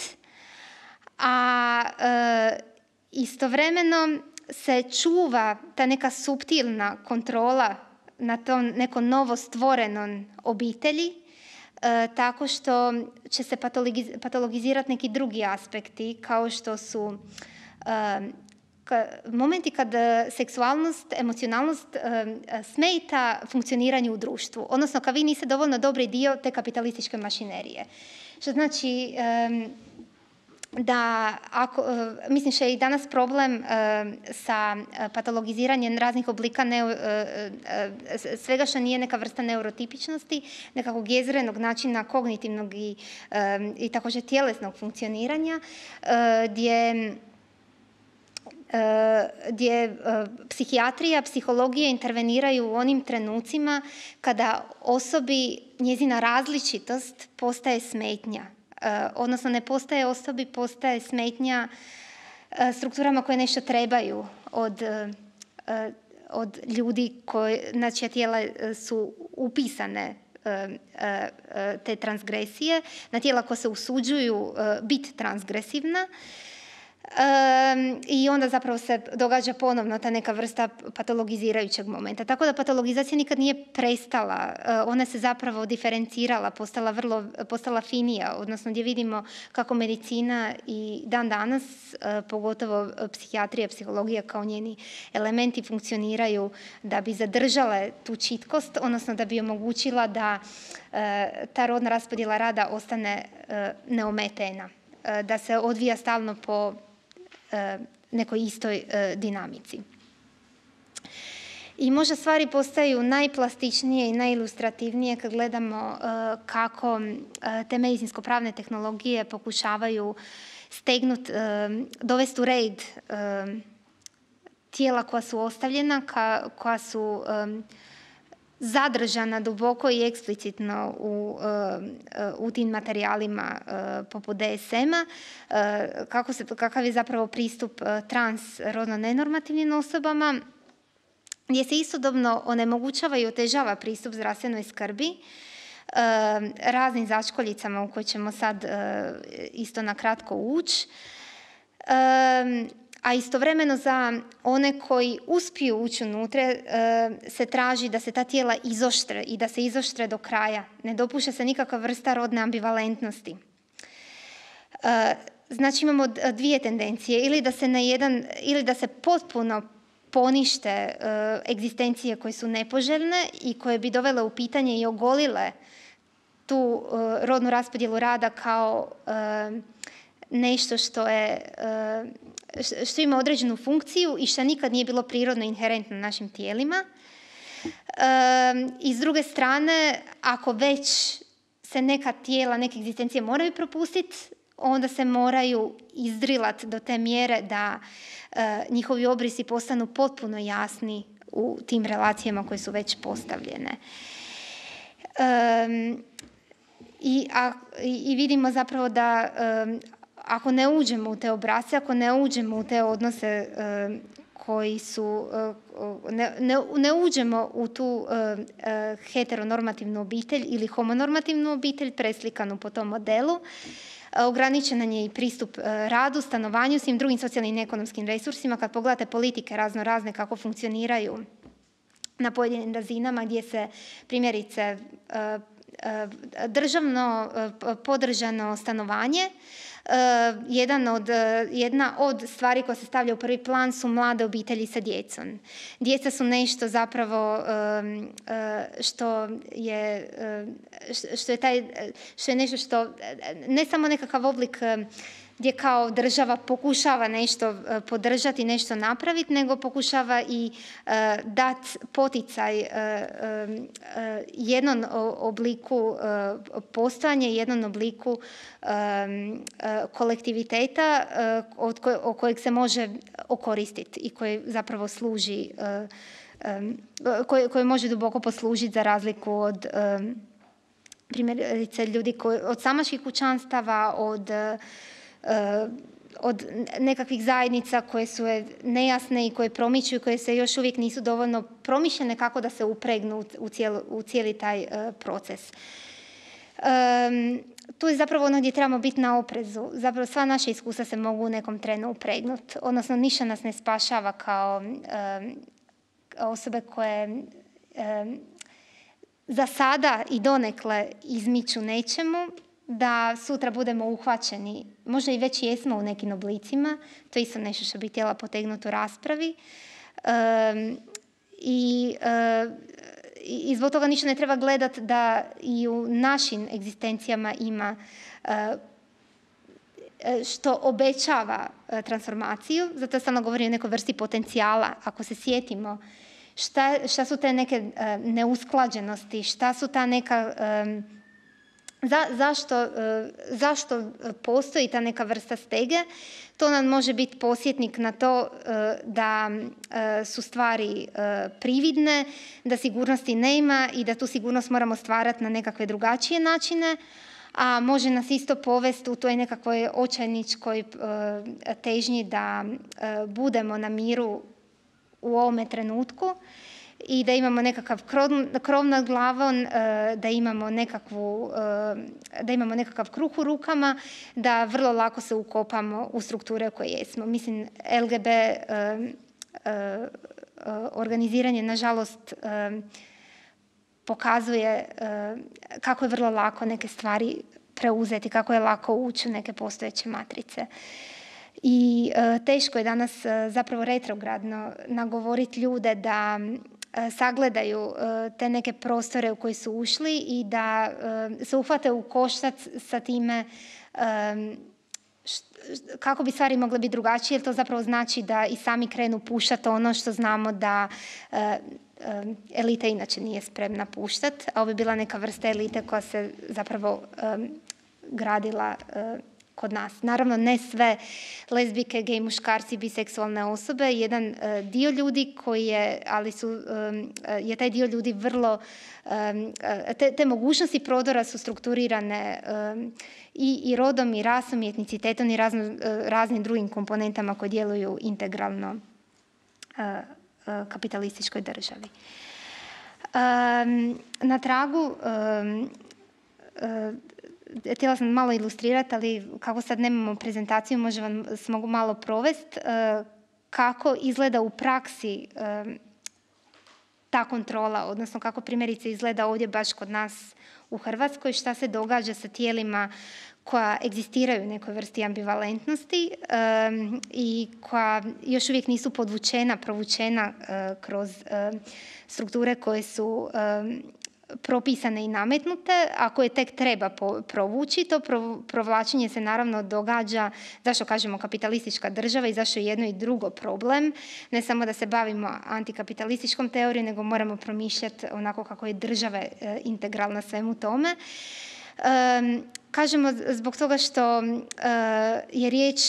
Speaker 2: a istovremeno se čuva ta neka suptilna kontrola na tom nekom novo stvorenom obitelji, tako što će se patologizirati neki drugi aspekti, kao što su momenti kad seksualnost, emocionalnost smeta funkcioniranju u društvu, odnosno kad vi niste dovoljno dobri dio te kapitalističke mašinerije. Što znači da mislim što je i danas problem sa patologiziranjem raznih oblika svega što nije neka vrsta neurotipičnosti, nekakvog jezrenog načina kognitivnog i također tjelesnog funkcioniranja, gdje psihijatrija, psihologija interveniraju u onim trenucima kada osobi njezina različitost postaje smetnja. Odnosno ne postaje osobi, postaje smetnja strukturama koje nešto trebaju od ljudi na čija tijela su upisane te transgresije, na tijela koja se usuđuju biti transgresivna. I onda zapravo se događa ponovno ta neka vrsta patologizirajućeg momenta. Tako da patologizacija nikad nije prestala, ona se zapravo diferencirala, postala finija, odnosno gdje vidimo kako medicina i dan danas, pogotovo psihijatrija, psihologija kao njeni elementi funkcioniraju da bi zadržale tu čitkost, odnosno da bi omogućila da ta rodna raspodjela rada ostane neometena, da se odvija stalno po nekoj istoj dinamici. I možda stvari postaju najplastičnije i najilustrativnije kad gledamo kako te medicinsko-pravne tehnologije pokušavaju dovesti u red tijela koja su ostavljena, koja su zadržana duboko i eksplicitno u tim materijalima poput DSM-a, kakav je zapravo pristup transrodno nenormativnim osobama gdje se istodobno onemogućava i otežava pristup zdravstvenoj skrbi, raznim začkoljicama u koje ćemo sad isto na kratko ući, a istovremeno za one koji uspiju ući unutra se traži da se ta tijela izoštre i da se izoštre do kraja. Ne dopušta se nikakva vrsta rodne ambivalentnosti. Znači imamo dvije tendencije, ili da se potpuno ponište egzistencije koje su nepoželjne i koje bi dovele u pitanje i ogolile tu rodnu raspodjelu rada kao nešto što ima određenu funkciju i što nikad nije bilo prirodno inherentno našim tijelima. I s druge strane, ako već se neka tijela, neke egzistencije moraju propustiti, onda se moraju izdrilati do te mjere da njihovi obrisi postanu potpuno jasni u tim relacijama koje su već postavljene. I vidimo zapravo da ako ne uđemo u te obrasce, ako ne uđemo u te odnose koji su, ne uđemo u tu heteronormativnu obitelj ili homonormativnu obitelj preslikanu po tom modelu, ograničen je i pristup radu, stanovanju, svim drugim socijalnim i ekonomskim resursima. Kad pogledate politike razne kako funkcioniraju na pojedinim razinama gdje se primjerice državno podržano stanovanje, jedna od stvari koja se stavlja u prvi plan su mlade obitelji sa djecom. Djeca su nešto zapravo što je nešto što ne samo nekakav oblik gdje kao država pokušava nešto podržati, nešto napraviti, nego pokušava i dati poticaj jednom obliku postojanja, jednom obliku kolektiviteta od kojeg se može okoristiti i koji zapravo služi, koji može duboko poslužiti za razliku od primjerice ljudi od samačkih kućanstava, od nekakvih zajednica koje su nejasne i koje promiču i koje se još uvijek nisu dovoljno promišljene kako da se upregnu u cijeli taj proces. Tu je zapravo ono gdje trebamo biti na oprezu. Zapravo sva naša iskustva se mogu u nekom trenu upregnuti. Odnosno, ništa nas ne spašava kao osobe koje za sada i donekle izmiču nečemu, da sutra budemo uhvaćeni, možda i već jesmo u nekim oblicima, to je isto nešto što bih htjela potegnuti u raspravi. I zbog toga ništa ne treba gledati da i u našim egzistencijama ima što obećava transformaciju, zato stalno govorim o nekoj vrsti potencijala. Ako se sjetimo šta su te neke neusklađenosti, šta su ta neka... Zašto postoji ta neka vrsta stege, to nam može biti podsjetnik na to da su stvari prividne, da sigurnosti nema i da tu sigurnost moramo stvarati na nekakve drugačije načine, a može nas isto povesti u toj nekakvoj očajničkoj težnji da budemo na miru u ovome trenutku i da imamo nekakav krov nad glavom, da imamo nekakav kruh u rukama, da vrlo lako se ukopamo u strukture koje jesmo. Mislim, LGB organiziranje, nažalost, pokazuje kako je vrlo lako neke stvari preuzeti, kako je lako ući u neke postojeće matrice. I teško je danas zapravo retrogradno nagovoriti ljude da sagledaju te neke prostore u koji su ušli i da se uhvate u koštac sa time kako bi stvari mogle biti drugačije, jer to zapravo znači da i sami krenu puštati ono što znamo da elita inače nije spremna puštati, a ovo bi bila neka vrsta elite koja se zapravo gradila kod nas. Naravno, ne sve lezbijke, gej muškarci, biseksualne osobe. Jedan dio ljudi je taj dio ljudi vrlo, te mogućnosti prodora su strukturirane i rodom, i rasom, i etnicitetom, i raznim drugim komponentama koje djeluju integralno kapitalističkoj državi. Na tragu, htjela sam malo ilustrirati, ali kako sad nemamo prezentaciju, možda vam mogu malo provesti kako izgleda u praksi ta kontrola, odnosno kako primjerice izgleda ovdje baš kod nas u Hrvatskoj, šta se događa sa tijelima koja egzistiraju u nekoj vrsti ambivalentnosti i koja još uvijek nisu provučena kroz strukture koje su propisane i nametnute, a koje tek treba provući. To provlačenje se naravno događa, zašto kažemo kapitalistička država i zašto je jedno i drugo problem. Ne samo da se bavimo antikapitalističkom teorijom, nego moramo promišljati onako kako je država integralna svemu tome. Kažemo zbog toga što je riječ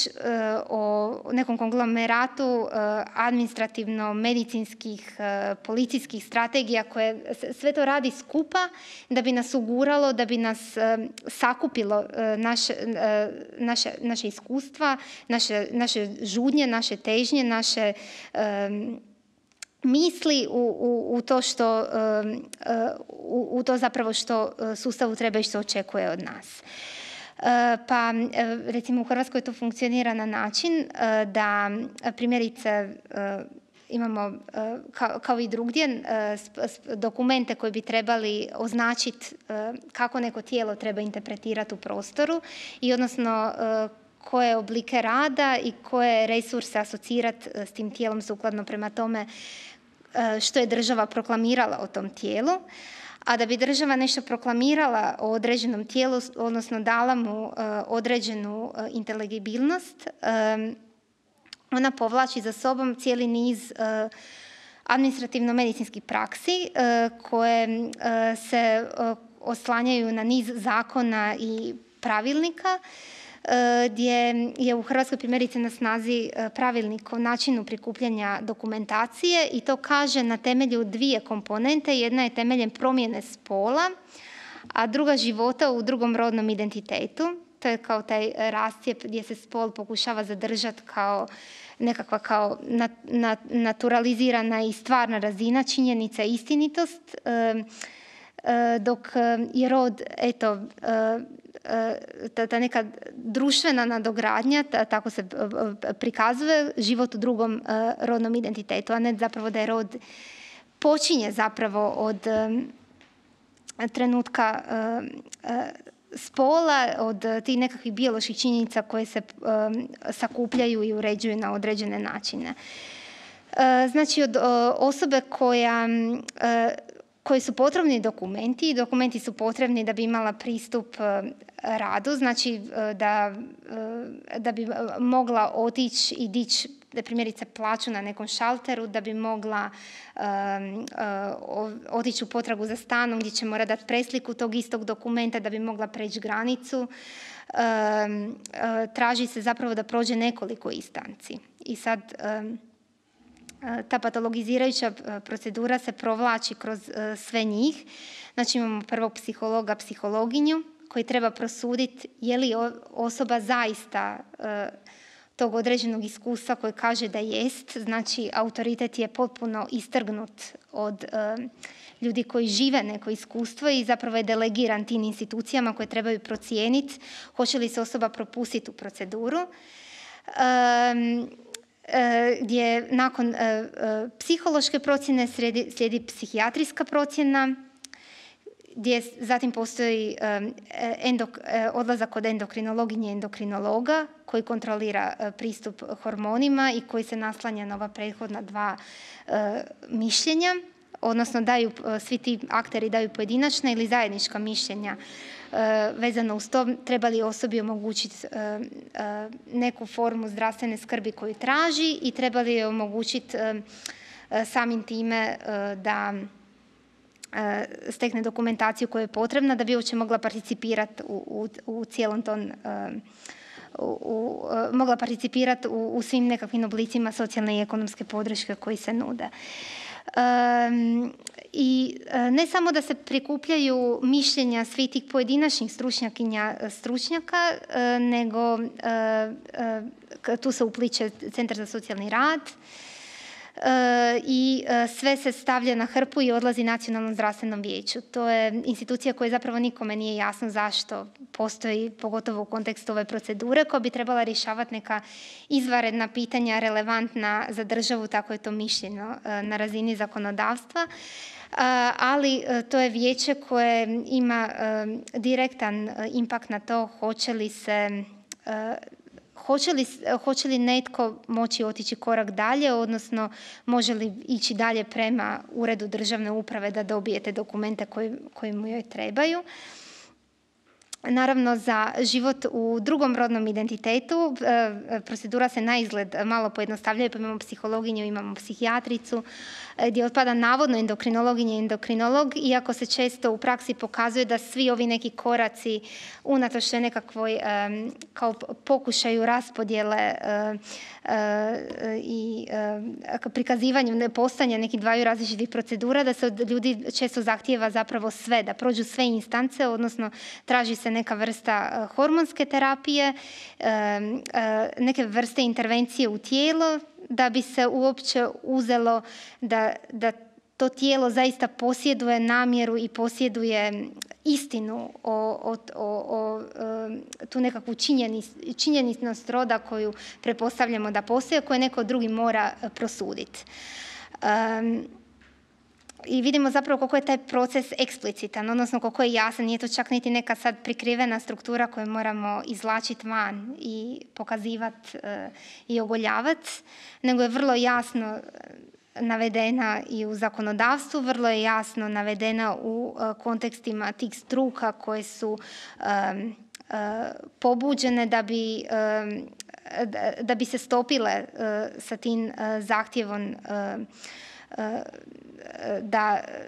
Speaker 2: o nekom konglomeratu administrativno-medicinskih, policijskih strategija koje sve to radi skupa da bi nas uguralo, da bi nas sakupilo naše iskustva, naše žudnje, naše težnje, naše misli u to zapravo što sustavu treba i što očekuje od nas. Pa recimo u Hrvatskoj to funkcionira na način da primjerice imamo kao i drugdje dokumente koji bi trebali označiti kako neko tijelo treba interpretirati u prostoru i odnosno koje oblike rada i koje resurse asocirati s tim tijelom sukladno prema tome što je država proklamirala o tom tijelu. A da bi država nešto proklamirala o određenom tijelu, odnosno dala mu određenu inteligibilnost, ona povlači za sobom cijeli niz administrativno-medicinskih praksi koje se oslanjaju na niz zakona i pravilnika, gdje je u Hrvatskoj primjerice na snazi pravilnik o načinu prikupljanja dokumentacije i to kaže na temelju dvije komponente. Jedna je temeljem promjene spola, a druga života u drugom rodnom identitetu. To je kao taj rascijep gdje se spol pokušava zadržati kao nekakva kao naturalizirana i stvarna razina, činjenica i istinitost, dok je rod, ta neka društvena nadogradnja, tako se prikazuje, život u drugom rodnom identitetu, a ne zapravo da je rod počinje zapravo od trenutka spola, od tih nekakvih bioloških činjenica koje se sakupljaju i uređuju na određene načine. Znači od osobe koji su potrebni dokumenti i dokumenti su potrebni da bi imala pristup radu, znači da bi mogla otići i dići primjerice plaću na nekom šalteru, da bi mogla otići u potragu za stanom gdje će morati dati presliku tog istog dokumenta da bi mogla preći granicu. Traži se zapravo da prođe nekoliko instanci. I sad ta patologizirajuća procedura se provlači kroz sve njih. Znači imamo prvog psihologa, psihologinju koji treba prosuditi je li osoba zaista tog određenog iskustva koje kaže da jest. Znači autoritet je potpuno istrgnut od ljudi koji žive neko iskustvo i zapravo je delegiran tim institucijama koje trebaju procijeniti hoće li se osoba propustiti u proceduru. Gdje nakon psihološke procjene slijedi psihijatrijska procjena, gdje zatim postoji odlazak kod endokrinologinje i endokrinologa koji kontrolira pristup hormonima i koji se naslanja na ova prethodna dva mišljenja, odnosno svi ti akteri daju pojedinačna ili zajednička mišljenja vezano uz to treba li osobi omogućiti neku formu zdravstvene skrbi koju traži i treba li joj omogućiti samim time da stekne dokumentaciju koja je potrebna da bi uopće mogla participirati u cijelom tom mogla participirati u svim nekakvim oblicima socijalne i ekonomske podrške koji se nude. I ne samo da se prikupljaju mišljenja svih tih pojedinačnih stručnjaka, nego tu se upliče Centar za socijalni rad i sve se stavlja na hrpu i odlazi Nacionalnom zdravstvenom vijeću. To je institucija koja zapravo nikome nije jasno zašto postoji, pogotovo u kontekstu ove procedure, koja bi trebala rješavati neka izvanredna pitanja relevantna za državu, tako je to mišljeno na razini zakonodavstva. Ali to je vijeće koje ima direktan impakt na to hoće li netko moći otići korak dalje, odnosno može li ići dalje prema Uredu državne uprave da dobije te dokumente koji mu joj trebaju. Naravno, za život u drugom rodnom identitetu procedura se naizgled malo pojednostavljuje, pa imamo psihologinju, imamo psihijatricu, gdje otpada navodno endokrinologinja i endokrinolog, iako se često u praksi pokazuje da svi ovi neki koraci unatoč nekakvoj kao pokušaju raspodjele i prikazivanju nepostojanja nekih dvaju različitih procedura, da se od ljudi često zahtijeva zapravo sve, da prođu sve instance, odnosno traži se neka vrsta hormonske terapije, neke vrste intervencije u tijelo, da bi se uopće uzelo da to tijelo zaista posjeduje namjeru i posjeduje istinu o tu nekakvu činjenicnost roda koju pretpostavljamo da postoji, koju neko drugi mora prosuditi. I vidimo zapravo koliko je taj proces eksplicitan, odnosno koliko je jasan. Nije to čak niti neka sad prikrivena struktura koju moramo izvlačiti van i pokazivati i ogoljavati, nego je vrlo jasno navedena i u zakonodavstvu, vrlo je jasno navedena u kontekstima tih struka koje su pobuđene da bi se stopile sa tim zahtjevom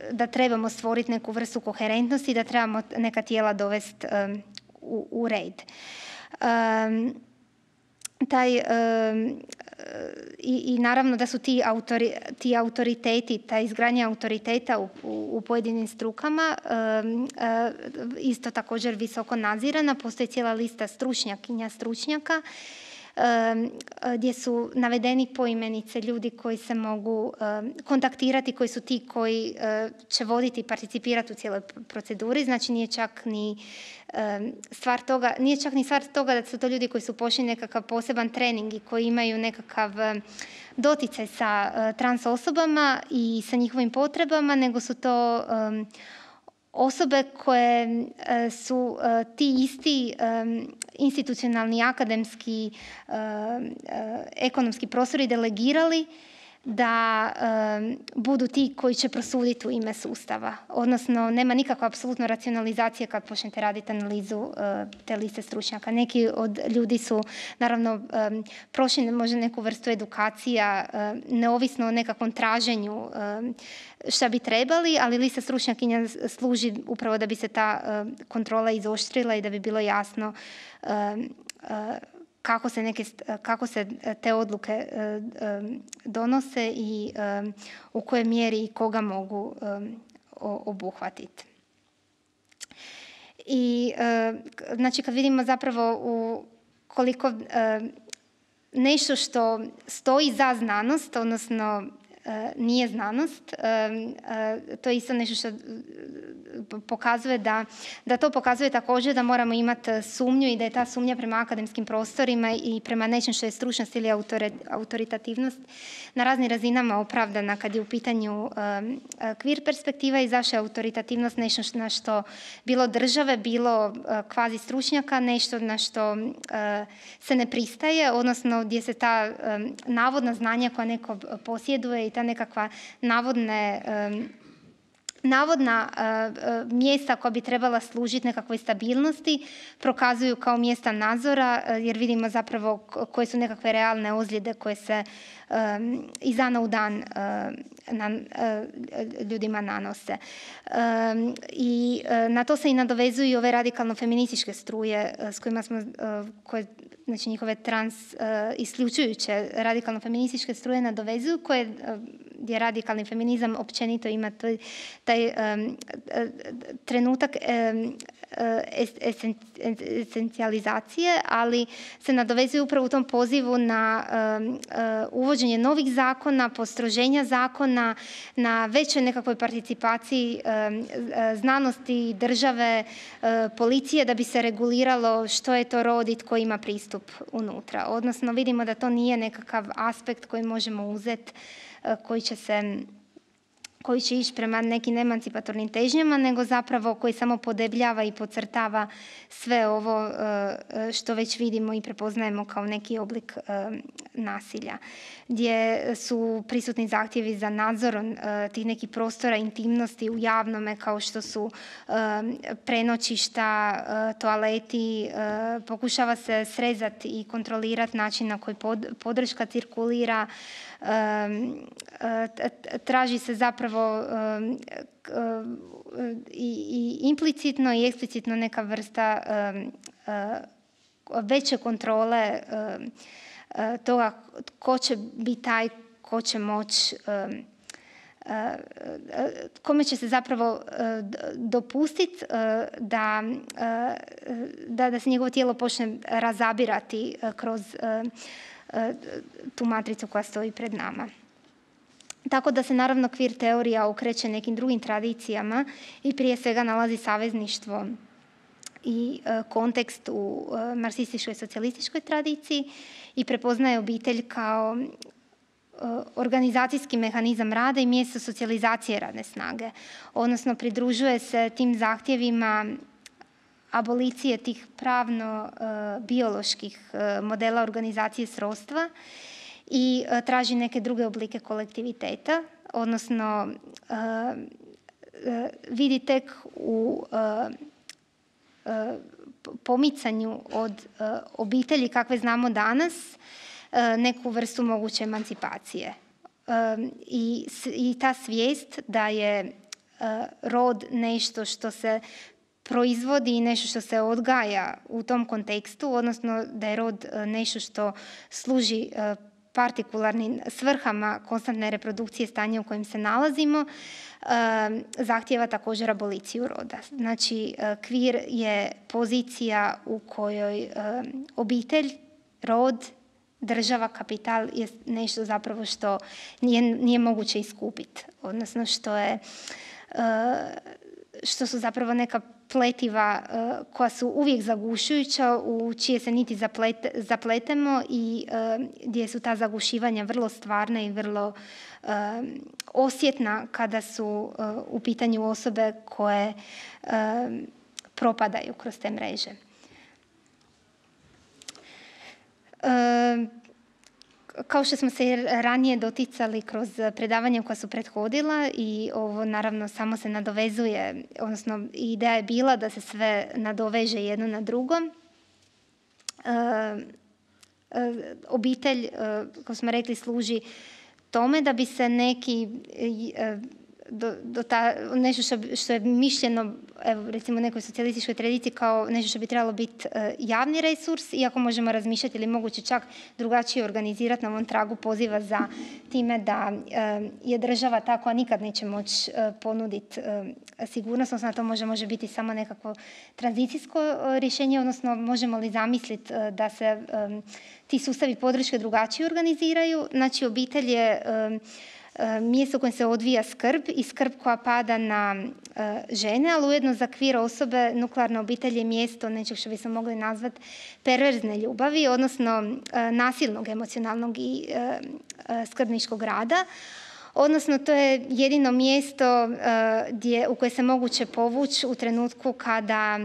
Speaker 2: da trebamo stvoriti neku vrstu koherentnosti, da trebamo neka tijela dovesti u red. I naravno da su ti autoriteti, ta izgradnja autoriteta u pojedinim strukama isto također visoko nadzirana. Postoji cijela lista stručnjaka gdje su navedeni poimenice ljudi koji se mogu kontaktirati, koji su ti koji će voditi i participirati u cijeloj proceduri. Znači nije čak ni stvar toga da su to ljudi koji su pošli nekakav poseban trening i koji imaju nekakav doticaj sa trans osobama i sa njihovim potrebama, nego su to osobe koje su ti isti institucionalni, akademski, ekonomski prostori delegirali da budu ti koji će prosuditi u ime sustava. Odnosno, nema nikakva apsolutno racionalizacija kad počnete raditi analizu te liste stručnjaka. Neki od ljudi su, naravno, prošli možda neku vrstu edukacija, neovisno o nekakvom traženju šta bi trebali, ali lista stručnjakinja služi upravo da bi se ta kontrola izoštrila i da bi bilo jasno kako se te odluke donose i u kojoj mjeri i koga mogu obuhvatiti. I znači kad vidimo zapravo koliko nešto što stoji za znanost, odnosno nije znanost, to je isto nešto što pokazuje da to pokazuje također da moramo imati sumnju i da je ta sumnja prema akademskim prostorima i prema nečem što je stručnost ili autoritativnost na raznim razinama opravdana kad je u pitanju queer perspektiva i zašto je autoritativnost nešto na što bilo države, bilo kvazi stručnjaka, nešto na što se ne pristaje, odnosno gdje se ta navodna znanja koja neko posjeduje i ta nekakva navodna mjesta koja bi trebala služiti nekakvoj stabilnosti prokazuju kao mjesta nadzora, jer vidimo zapravo koje su nekakve realne ozljede koje se iz dana u dan ljudima nanose. I na to se i nadovezuju ove radikalno feminističke struje s kojima smo, znači njihove isključujuće radikalno feminističke struje nadovezuju, gdje radikalni feminizam općenito ima taj trenutak esencijalizacije, ali se nadovezuje upravo u tom pozivu na uvođenje novih zakona, postroženja zakona, na većoj nekakvoj participaciji znanosti, države, policije, da bi se reguliralo što je to rod i tko ima pristup unutra. Odnosno, vidimo da to nije nekakav aspekt koji možemo uzeti, koji će ići prema nekim emancipatornim težnjama, nego zapravo koji samo podebljava i podcrtava sve ovo što već vidimo i prepoznajemo kao neki oblik nasilja, gdje su prisutni zahtjevi za nadzorom tih nekih prostora intimnosti u javnome, kao što su prenoćišta, toaleti. Pokušava se srezati i kontrolirati način na koji podrška cirkulira. Traži se zapravo i implicitno i eksplicitno neka vrsta veće kontrole toga ko će biti taj, ko će moći, kome će se zapravo dopustiti da se njegovo tijelo počne razabirati kroz tu matricu koja stoji pred nama. Tako da se naravno queer teorija okreće nekim drugim tradicijama i prije svega nalazi savezništvo i kontekst u marksističkoj socijalističkoj tradiciji i prepoznaje obitelj kao organizacijski mehanizam rada i mjesto socijalizacije radne snage. Odnosno, pridružuje se tim zahtjevima abolicije tih pravno-bioloških modela organizacije srodstva i traži neke druge oblike kolektiviteta, odnosno vidi tek u pomicanju od obitelji kakve znamo danas neku vrstu moguće emancipacije. I ta svijest da je rod nešto što se proizvodi i nešto što se odgaja u tom kontekstu, odnosno da je rod nešto što služi partikularnim svrhama konstantne reprodukcije stanja u kojem se nalazimo, zahtijeva također aboliciju roda. Znači, queer je pozicija u kojoj obitelj, rod, država, kapital je nešto zapravo što nije moguće iskupiti, odnosno što su zapravo neka pletiva koja su uvijek zagušujuća, u čije se niti zapletemo i gdje su ta zagušivanja vrlo stvarna i vrlo osjetna kada su u pitanju osobe koje propadaju kroz te mreže. Kao što smo se ranije doticali kroz predavanja koja su prethodila, i ovo naravno samo se nadovezuje, odnosno ideja je bila da se sve nadoveže jedno na drugo. Obitelj, kao smo rekli, služi tome da bi se neki nešto što je mišljeno, evo, recimo u nekoj socijalističkoj tradiciji, kao nešto što bi trebalo biti javni resurs, iako možemo razmišljati ili moguće čak drugačije organizirati na ovom tragu poziva za time da je država ta koja nikad neće moći ponuditi sigurnost, odnosno to može biti samo nekakvo tranzicijsko rješenje, odnosno možemo li zamisliti da se ti sustavi podrške drugačije organiziraju. Znači, obitelj je mjesto u kojem se odvija skrb i skrb koja pada na žene, ali ujedno za queer osobe nuklearna obitelj je mjesto nečeg što bismo mogli nazvati perverzne ljubavi, odnosno nasilnog emocionalnog i skrbničkog rada. Odnosno, to je jedino mjesto u koje se moguće povući u trenutku kada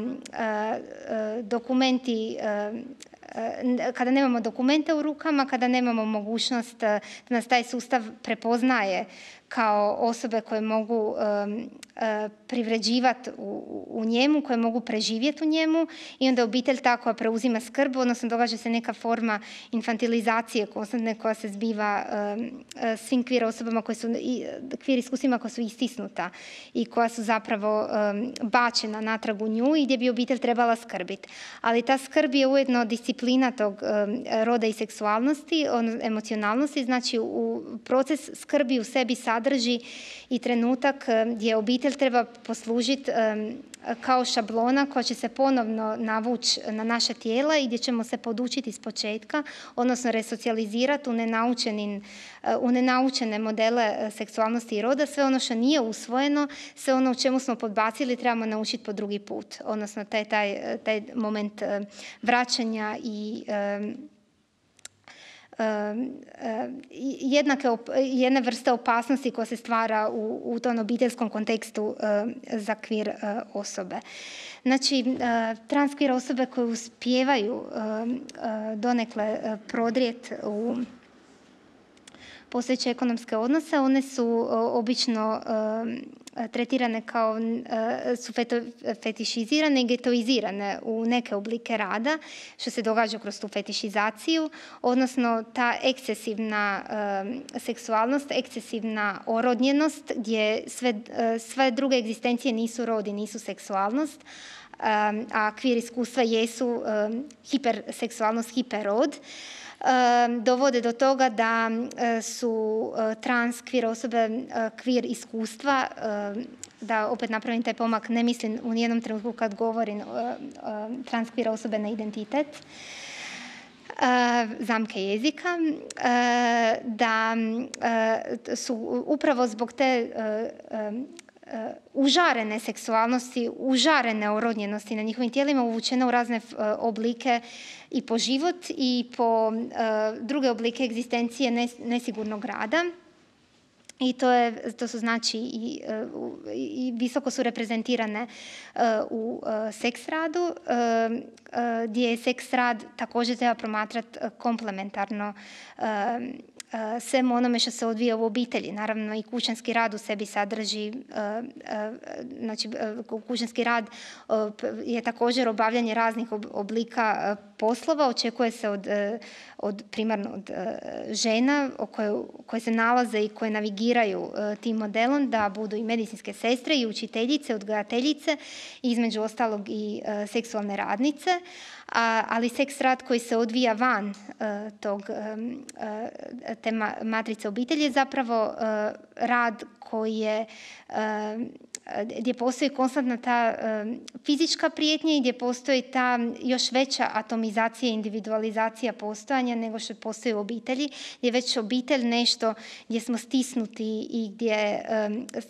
Speaker 2: kada nemamo dokumente u rukama, kada nemamo mogućnost da nas taj sustav prepoznaje kao osobe koje mogu privređivati u njemu, koje mogu preživjeti u njemu, i onda obitelj ta koja preuzima skrb, odnosno događa se neka forma infantilizacije konstantne koja se zbiva svim queer osobama koje su, queer iskustvima koja su istisnuta i koja su zapravo bačena natrag u nju i gdje bi obitelj trebala skrbiti. Ali ta skrb je ujedno disciplina disciplina tog roda i seksualnosti, emocionalnosti, znači u proces skrbi u sebi sadrži i trenutak gdje obitelj treba poslužiti kao šablona koja će se ponovno navući na naše tijela i gdje ćemo se podučiti iz početka, odnosno resocijalizirati u nenaučene modele seksualnosti i roda. Sve ono što nije usvojeno, sve ono u čemu smo podbacili trebamo naučiti po drugi put, odnosno taj moment vraćanja i jedne vrste opasnosti koja se stvara u tom obiteljskom kontekstu za queer osobe. Znači, trans queer osobe koje uspijevaju donekle prodrijeti u postojeće ekonomske odnose, one su obično tretirane kao, su fetišizirane i getoizirane u neke oblike rada, što se događa kroz tu fetišizaciju, odnosno ta ekscesivna seksualnost, ekscesivna orodnjenost, gdje sve druge egzistencije nisu rod i nisu seksualnost, a queer iskustva jesu hiperseksualnost, hiperrod, dovode do toga da su trans queer osobe, queer iskustva, da opet napravim taj pomak, ne mislim u nijednom trenutku kad govorim trans queer osobe na identitet, zamke jezika, da su upravo zbog te užarene seksualnosti, užarene orodnjenosti na njihovim tijelima uvučena u razne oblike i po život i po druge oblike egzistencije nesigurnog rada. I to su znači i visoko su reprezentirane u seks radu, gdje je seks rad također treba promatrati komplementarno svemu onome što se odvija u obitelji. Naravno i kućanski rad u sebi sadrži, znači kućanski rad je također obavljanje raznih oblika poslova, očekuje se primarno od žena koje se nalaze i koje navigiraju tim modelom da budu i medicinske sestre i učiteljice, odgajateljice, između ostalog i seksualne radnice, ali seks rad koji se odvija van te matrice obitelji je zapravo rad koji je gdje postoji konstantna ta fizička prijetnja i gdje postoji ta još veća atomizacija i individualizacija postojanja nego što postoji u obitelji, gdje je već obitelj nešto gdje smo stisnuti i gdje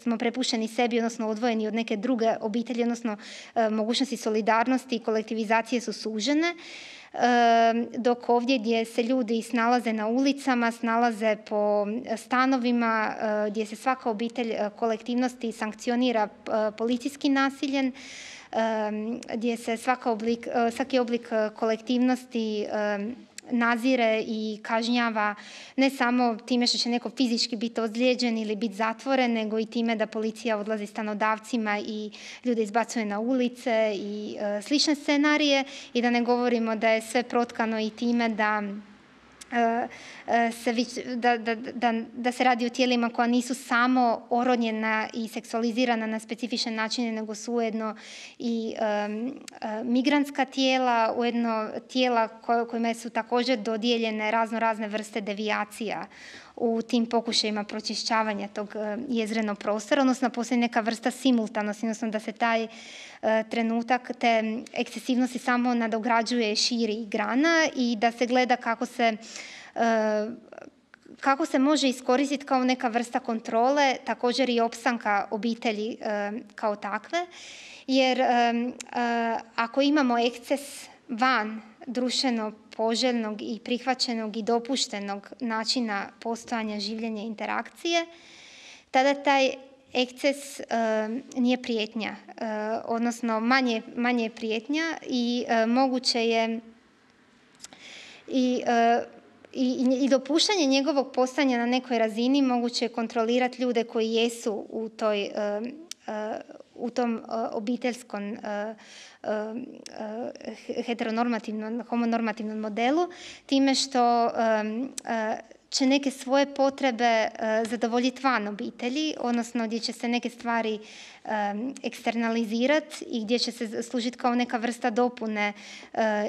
Speaker 2: smo prepušteni sebi, odnosno odvojeni od neke druge obitelji, odnosno mogućnosti solidarnosti i kolektivizacije su sužene. Dok ovdje gdje se ljudi snalaze na ulicama, snalaze po stanovima, gdje se svaka obitelj kolektivnosti sankcionira policijski nasiljen, gdje se svaki oblik kolektivnosti nazire i kažnjava ne samo time što će neko fizički biti ozlijeđen ili biti zatvoren, nego i time da policija odlazi stanodavcima i ljude izbacuje na ulice i slične scenarije, i da ne govorimo da je sve protkano i time da se radi o tijelima koja nisu samo orodnjena i seksualizirana na specifične načine, nego su ujedno i migrantska tijela, ujedno tijela kojima su također dodijeljene razne vrste devijacija u tim pokušajima pročišćavanja tog jezrenog prostora, odnosno postoji neka vrsta simultanosti, odnosno da se taj trenutak te ekscesivnosti samo nadograđuje, širi i grana i da se gleda kako se može iskoristiti kao neka vrsta kontrole, također i opstanka obitelji kao takve. Jer ako imamo eksces van društveno poželjnog i prihvaćenog i dopuštenog načina postojanja, življenja i interakcije, tada taj eksces nije prijetnja, odnosno manje je prijetnja i moguće je i dopuštanje njegovog postojanja na nekoj razini moguće je kontrolirati ljude koji jesu u tom obiteljskom heteronormativnom, homonormativnom modelu, time što će neke svoje potrebe zadovoljiti van obitelji, odnosno gdje će se neke stvari eksternalizirati i gdje će se služiti kao neka vrsta dopune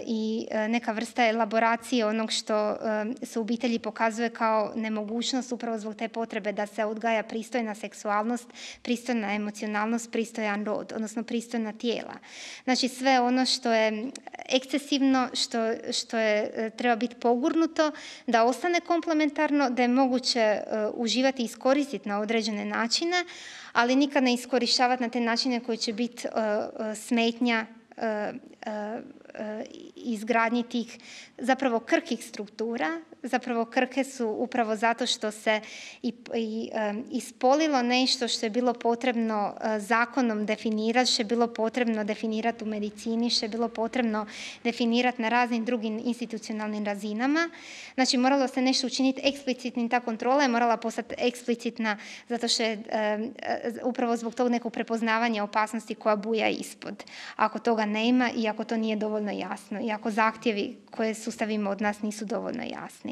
Speaker 2: i neka vrsta elaboracije onog što se u obitelji pokazuje kao nemogućnost upravo zbog te potrebe da se odgaja pristojna seksualnost, pristojna emocionalnost, pristojan rod, odnosno pristojna tijela. Znači sve ono što je ekscesivno, što je treba biti pogurnuto, da ostane komplementarno, da je moguće uživati i iskoristiti na određene načine, ali nikad ne iskorištavati na te načine koji će biti smetnja izgradnji tih zapravo krhkih struktura. Zapravo krhke su upravo zato što se ispolilo nešto što je bilo potrebno zakonom definirati, što je bilo potrebno definirati u medicini, što je bilo potrebno definirati na raznim drugim institucionalnim razinama. Znači moralo se nešto učiniti eksplicitnim, ta kontrola je morala postati eksplicitna zato što je upravo zbog tog nekog prepoznavanja opasnosti koja buja ispod. Ako toga nema i ako to nije dovoljno jasno i ako zahtjevi koje sustav ima od nas nisu dovoljno jasni.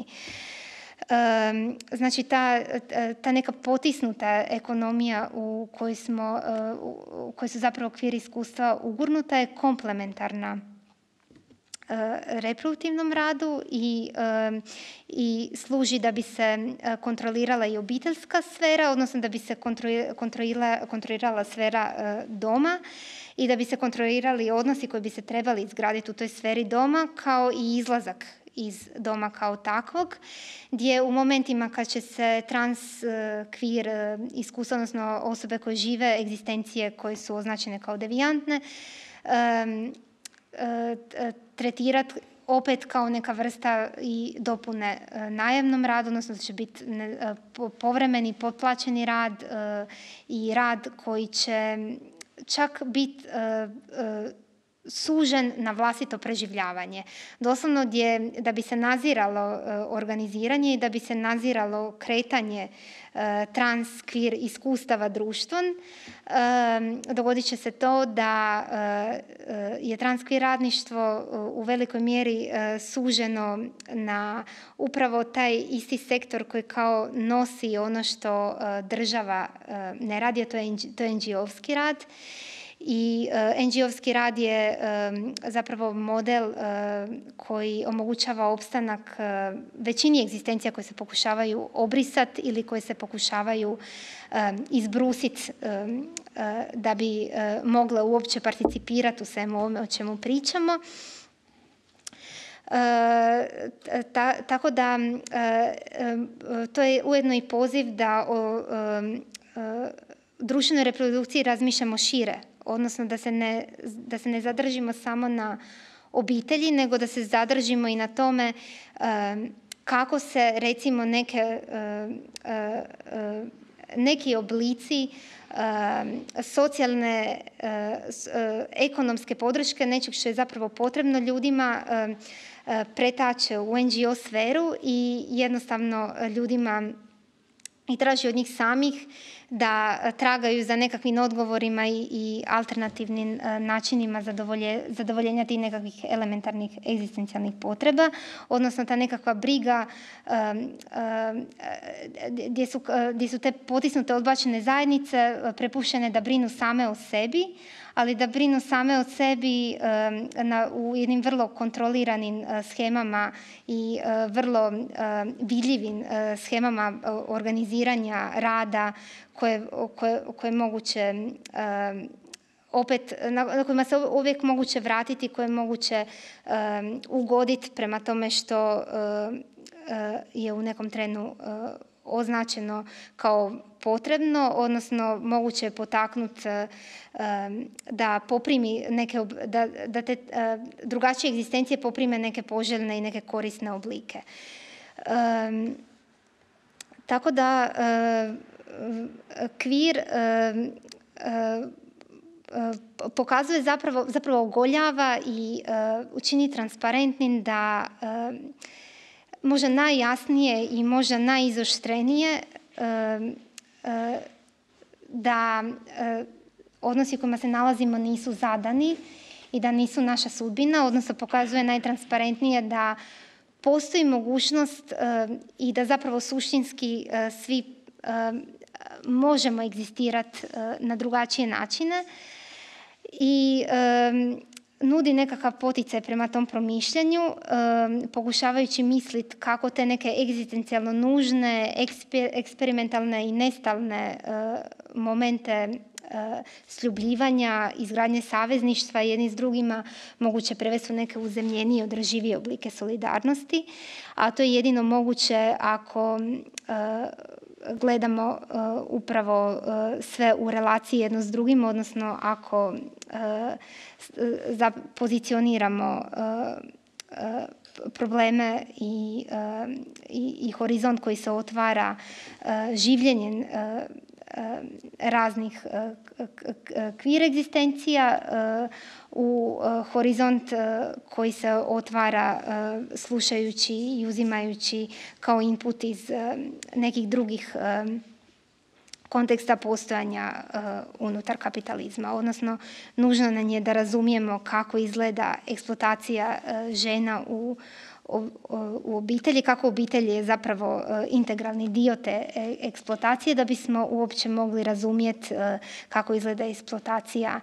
Speaker 2: Znači ta neka potisnuta ekonomija u kojoj su zapravo okvir iskustva ugurnuta je komplementarna reproduktivnom radu i služi da bi se kontrolirala i obiteljska sfera, odnosno da bi se kontrolirala sfera doma i da bi se kontrolirali odnosi koji bi se trebali izgraditi u toj sferi doma, kao i izlazak iz doma kao takvog, gdje u momentima kad će se trans, queer iskustva, odnosno osobe koje žive egzistencije koje su označene kao devijantne, tretirati opet kao neka vrsta i dopune najamnom radu, odnosno da će biti povremeni, potplaćeni rad i rad koji će čak biti sužen na vlastito preživljavanje. Doslovno da bi se nadziralo organiziranje i da bi se nadziralo kretanje trans, queer iskustava društvom, dogodit će se to da je trans, queer radništvo u velikoj mjeri suženo na upravo taj isti sektor koji kao nosi ono što država ne radi, a to je NGO-vski rad. I NGO-vski rad je zapravo model koji omogućava opstanak većini egzistencija koje se pokušavaju obrisati ili koje se pokušavaju izbrusiti da bi mogle uopće participirati u svemu ovome o čemu pričamo. Tako da to je ujedno i poziv da o društvenoj reprodukciji razmišljamo šire, odnosno da se ne zadržimo samo na obitelji, nego da se zadržimo i na tome kako se recimo neki oblici socijalne, ekonomske podrške, nečeg što je zapravo potrebno ljudima, pretače u NGO sferu i jednostavno ljudima i traži od njih samih da tragaju za nekakvim odgovorima i alternativnim načinima zadovoljenja tih nekakvih elementarnih egzistencijalnih potreba, odnosno ta nekakva briga gdje su te potisnute odbačene zajednice prepuštene da brinu same o sebi, ali da brinu same o sebi u jednim vrlo kontroliranim shemama i vrlo vidljivim shemama organiziranja rada koje moguće opet, na kojima se uvijek moguće vratiti, koje je moguće ugoditi prema tome što je u nekom trenu označeno kao potrebno, odnosno moguće je potaknuti da poprimi da te drugačije egzistencije poprime neke poželjne i neke korisne oblike. Tako da queer pokazuje zapravo ogoljava i učini transparentnim da možda najjasnije i možda najizoštrenije da odnosi u kojima se nalazimo nisu zadani i da nisu naša sudbina, odnosno pokazuje najtransparentnije da postoji mogućnost i da zapravo suštinski svi možemo egzistirati na drugačije načine i nudi nekakav poticaj prema tom promišljanju, pokušavajući misliti kako te neke egzistencijalno nužne, eksperimentalne i nestalne momente sljubljivanja, izgradnje savezništva jedni s drugima moguće prevesti u neke uzemljenije, održivije oblike solidarnosti, a to je jedino moguće ako gledamo upravo sve u relaciji jedno s drugim, odnosno ako pozicioniramo probleme i horizont koji se otvara življenjem raznih kvir egzistencija u horizont koji se otvara slušajući i uzimajući kao input iz nekih drugih konteksta postojanja unutar kapitalizma. Odnosno, nužno nam je da razumijemo kako izgleda eksploatacija žena u obitelji, kako obitelj je zapravo integralni dio te eksploatacije, da bismo uopće mogli razumjeti kako izgleda eksploatacija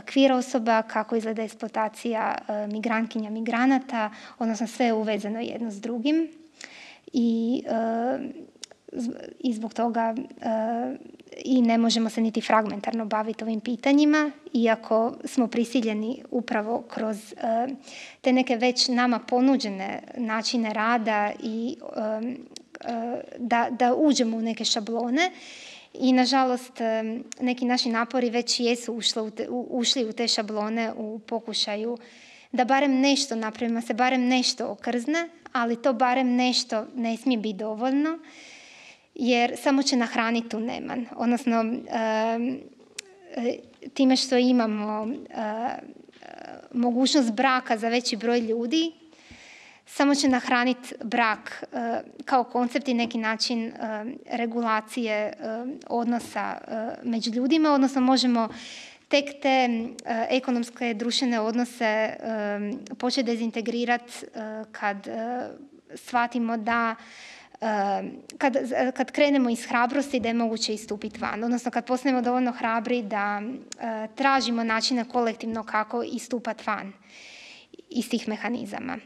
Speaker 2: kvir osoba, kako izgleda eksploatacija migrantkinja, migranata, odnosno sve je uvezano jedno s drugim. I zbog toga i ne možemo se niti fragmentarno baviti ovim pitanjima, iako smo prisiljeni upravo kroz te neke već nama ponuđene načine rada i da uđemo u neke šablone. I nažalost neki naši napori već jesu ušli u te šablone u pokušaju da barem nešto napravimo, se barem nešto okrzne, ali to barem nešto ne smije biti dovoljno, jer samo će nahraniti tu neman. Odnosno, time što imamo mogućnost braka za veći broj ljudi, samo će nahraniti brak kao koncept i neki način regulacije odnosa među ljudima, odnosno možemo tek te ekonomske, društvene odnose početi dezintegrirati kad shvatimo da kad krenemo iz hrabrosti da je moguće istupiti van. Odnosno kad postanemo dovoljno hrabri da tražimo načine kolektivno kako istupati van iz tih mehanizama.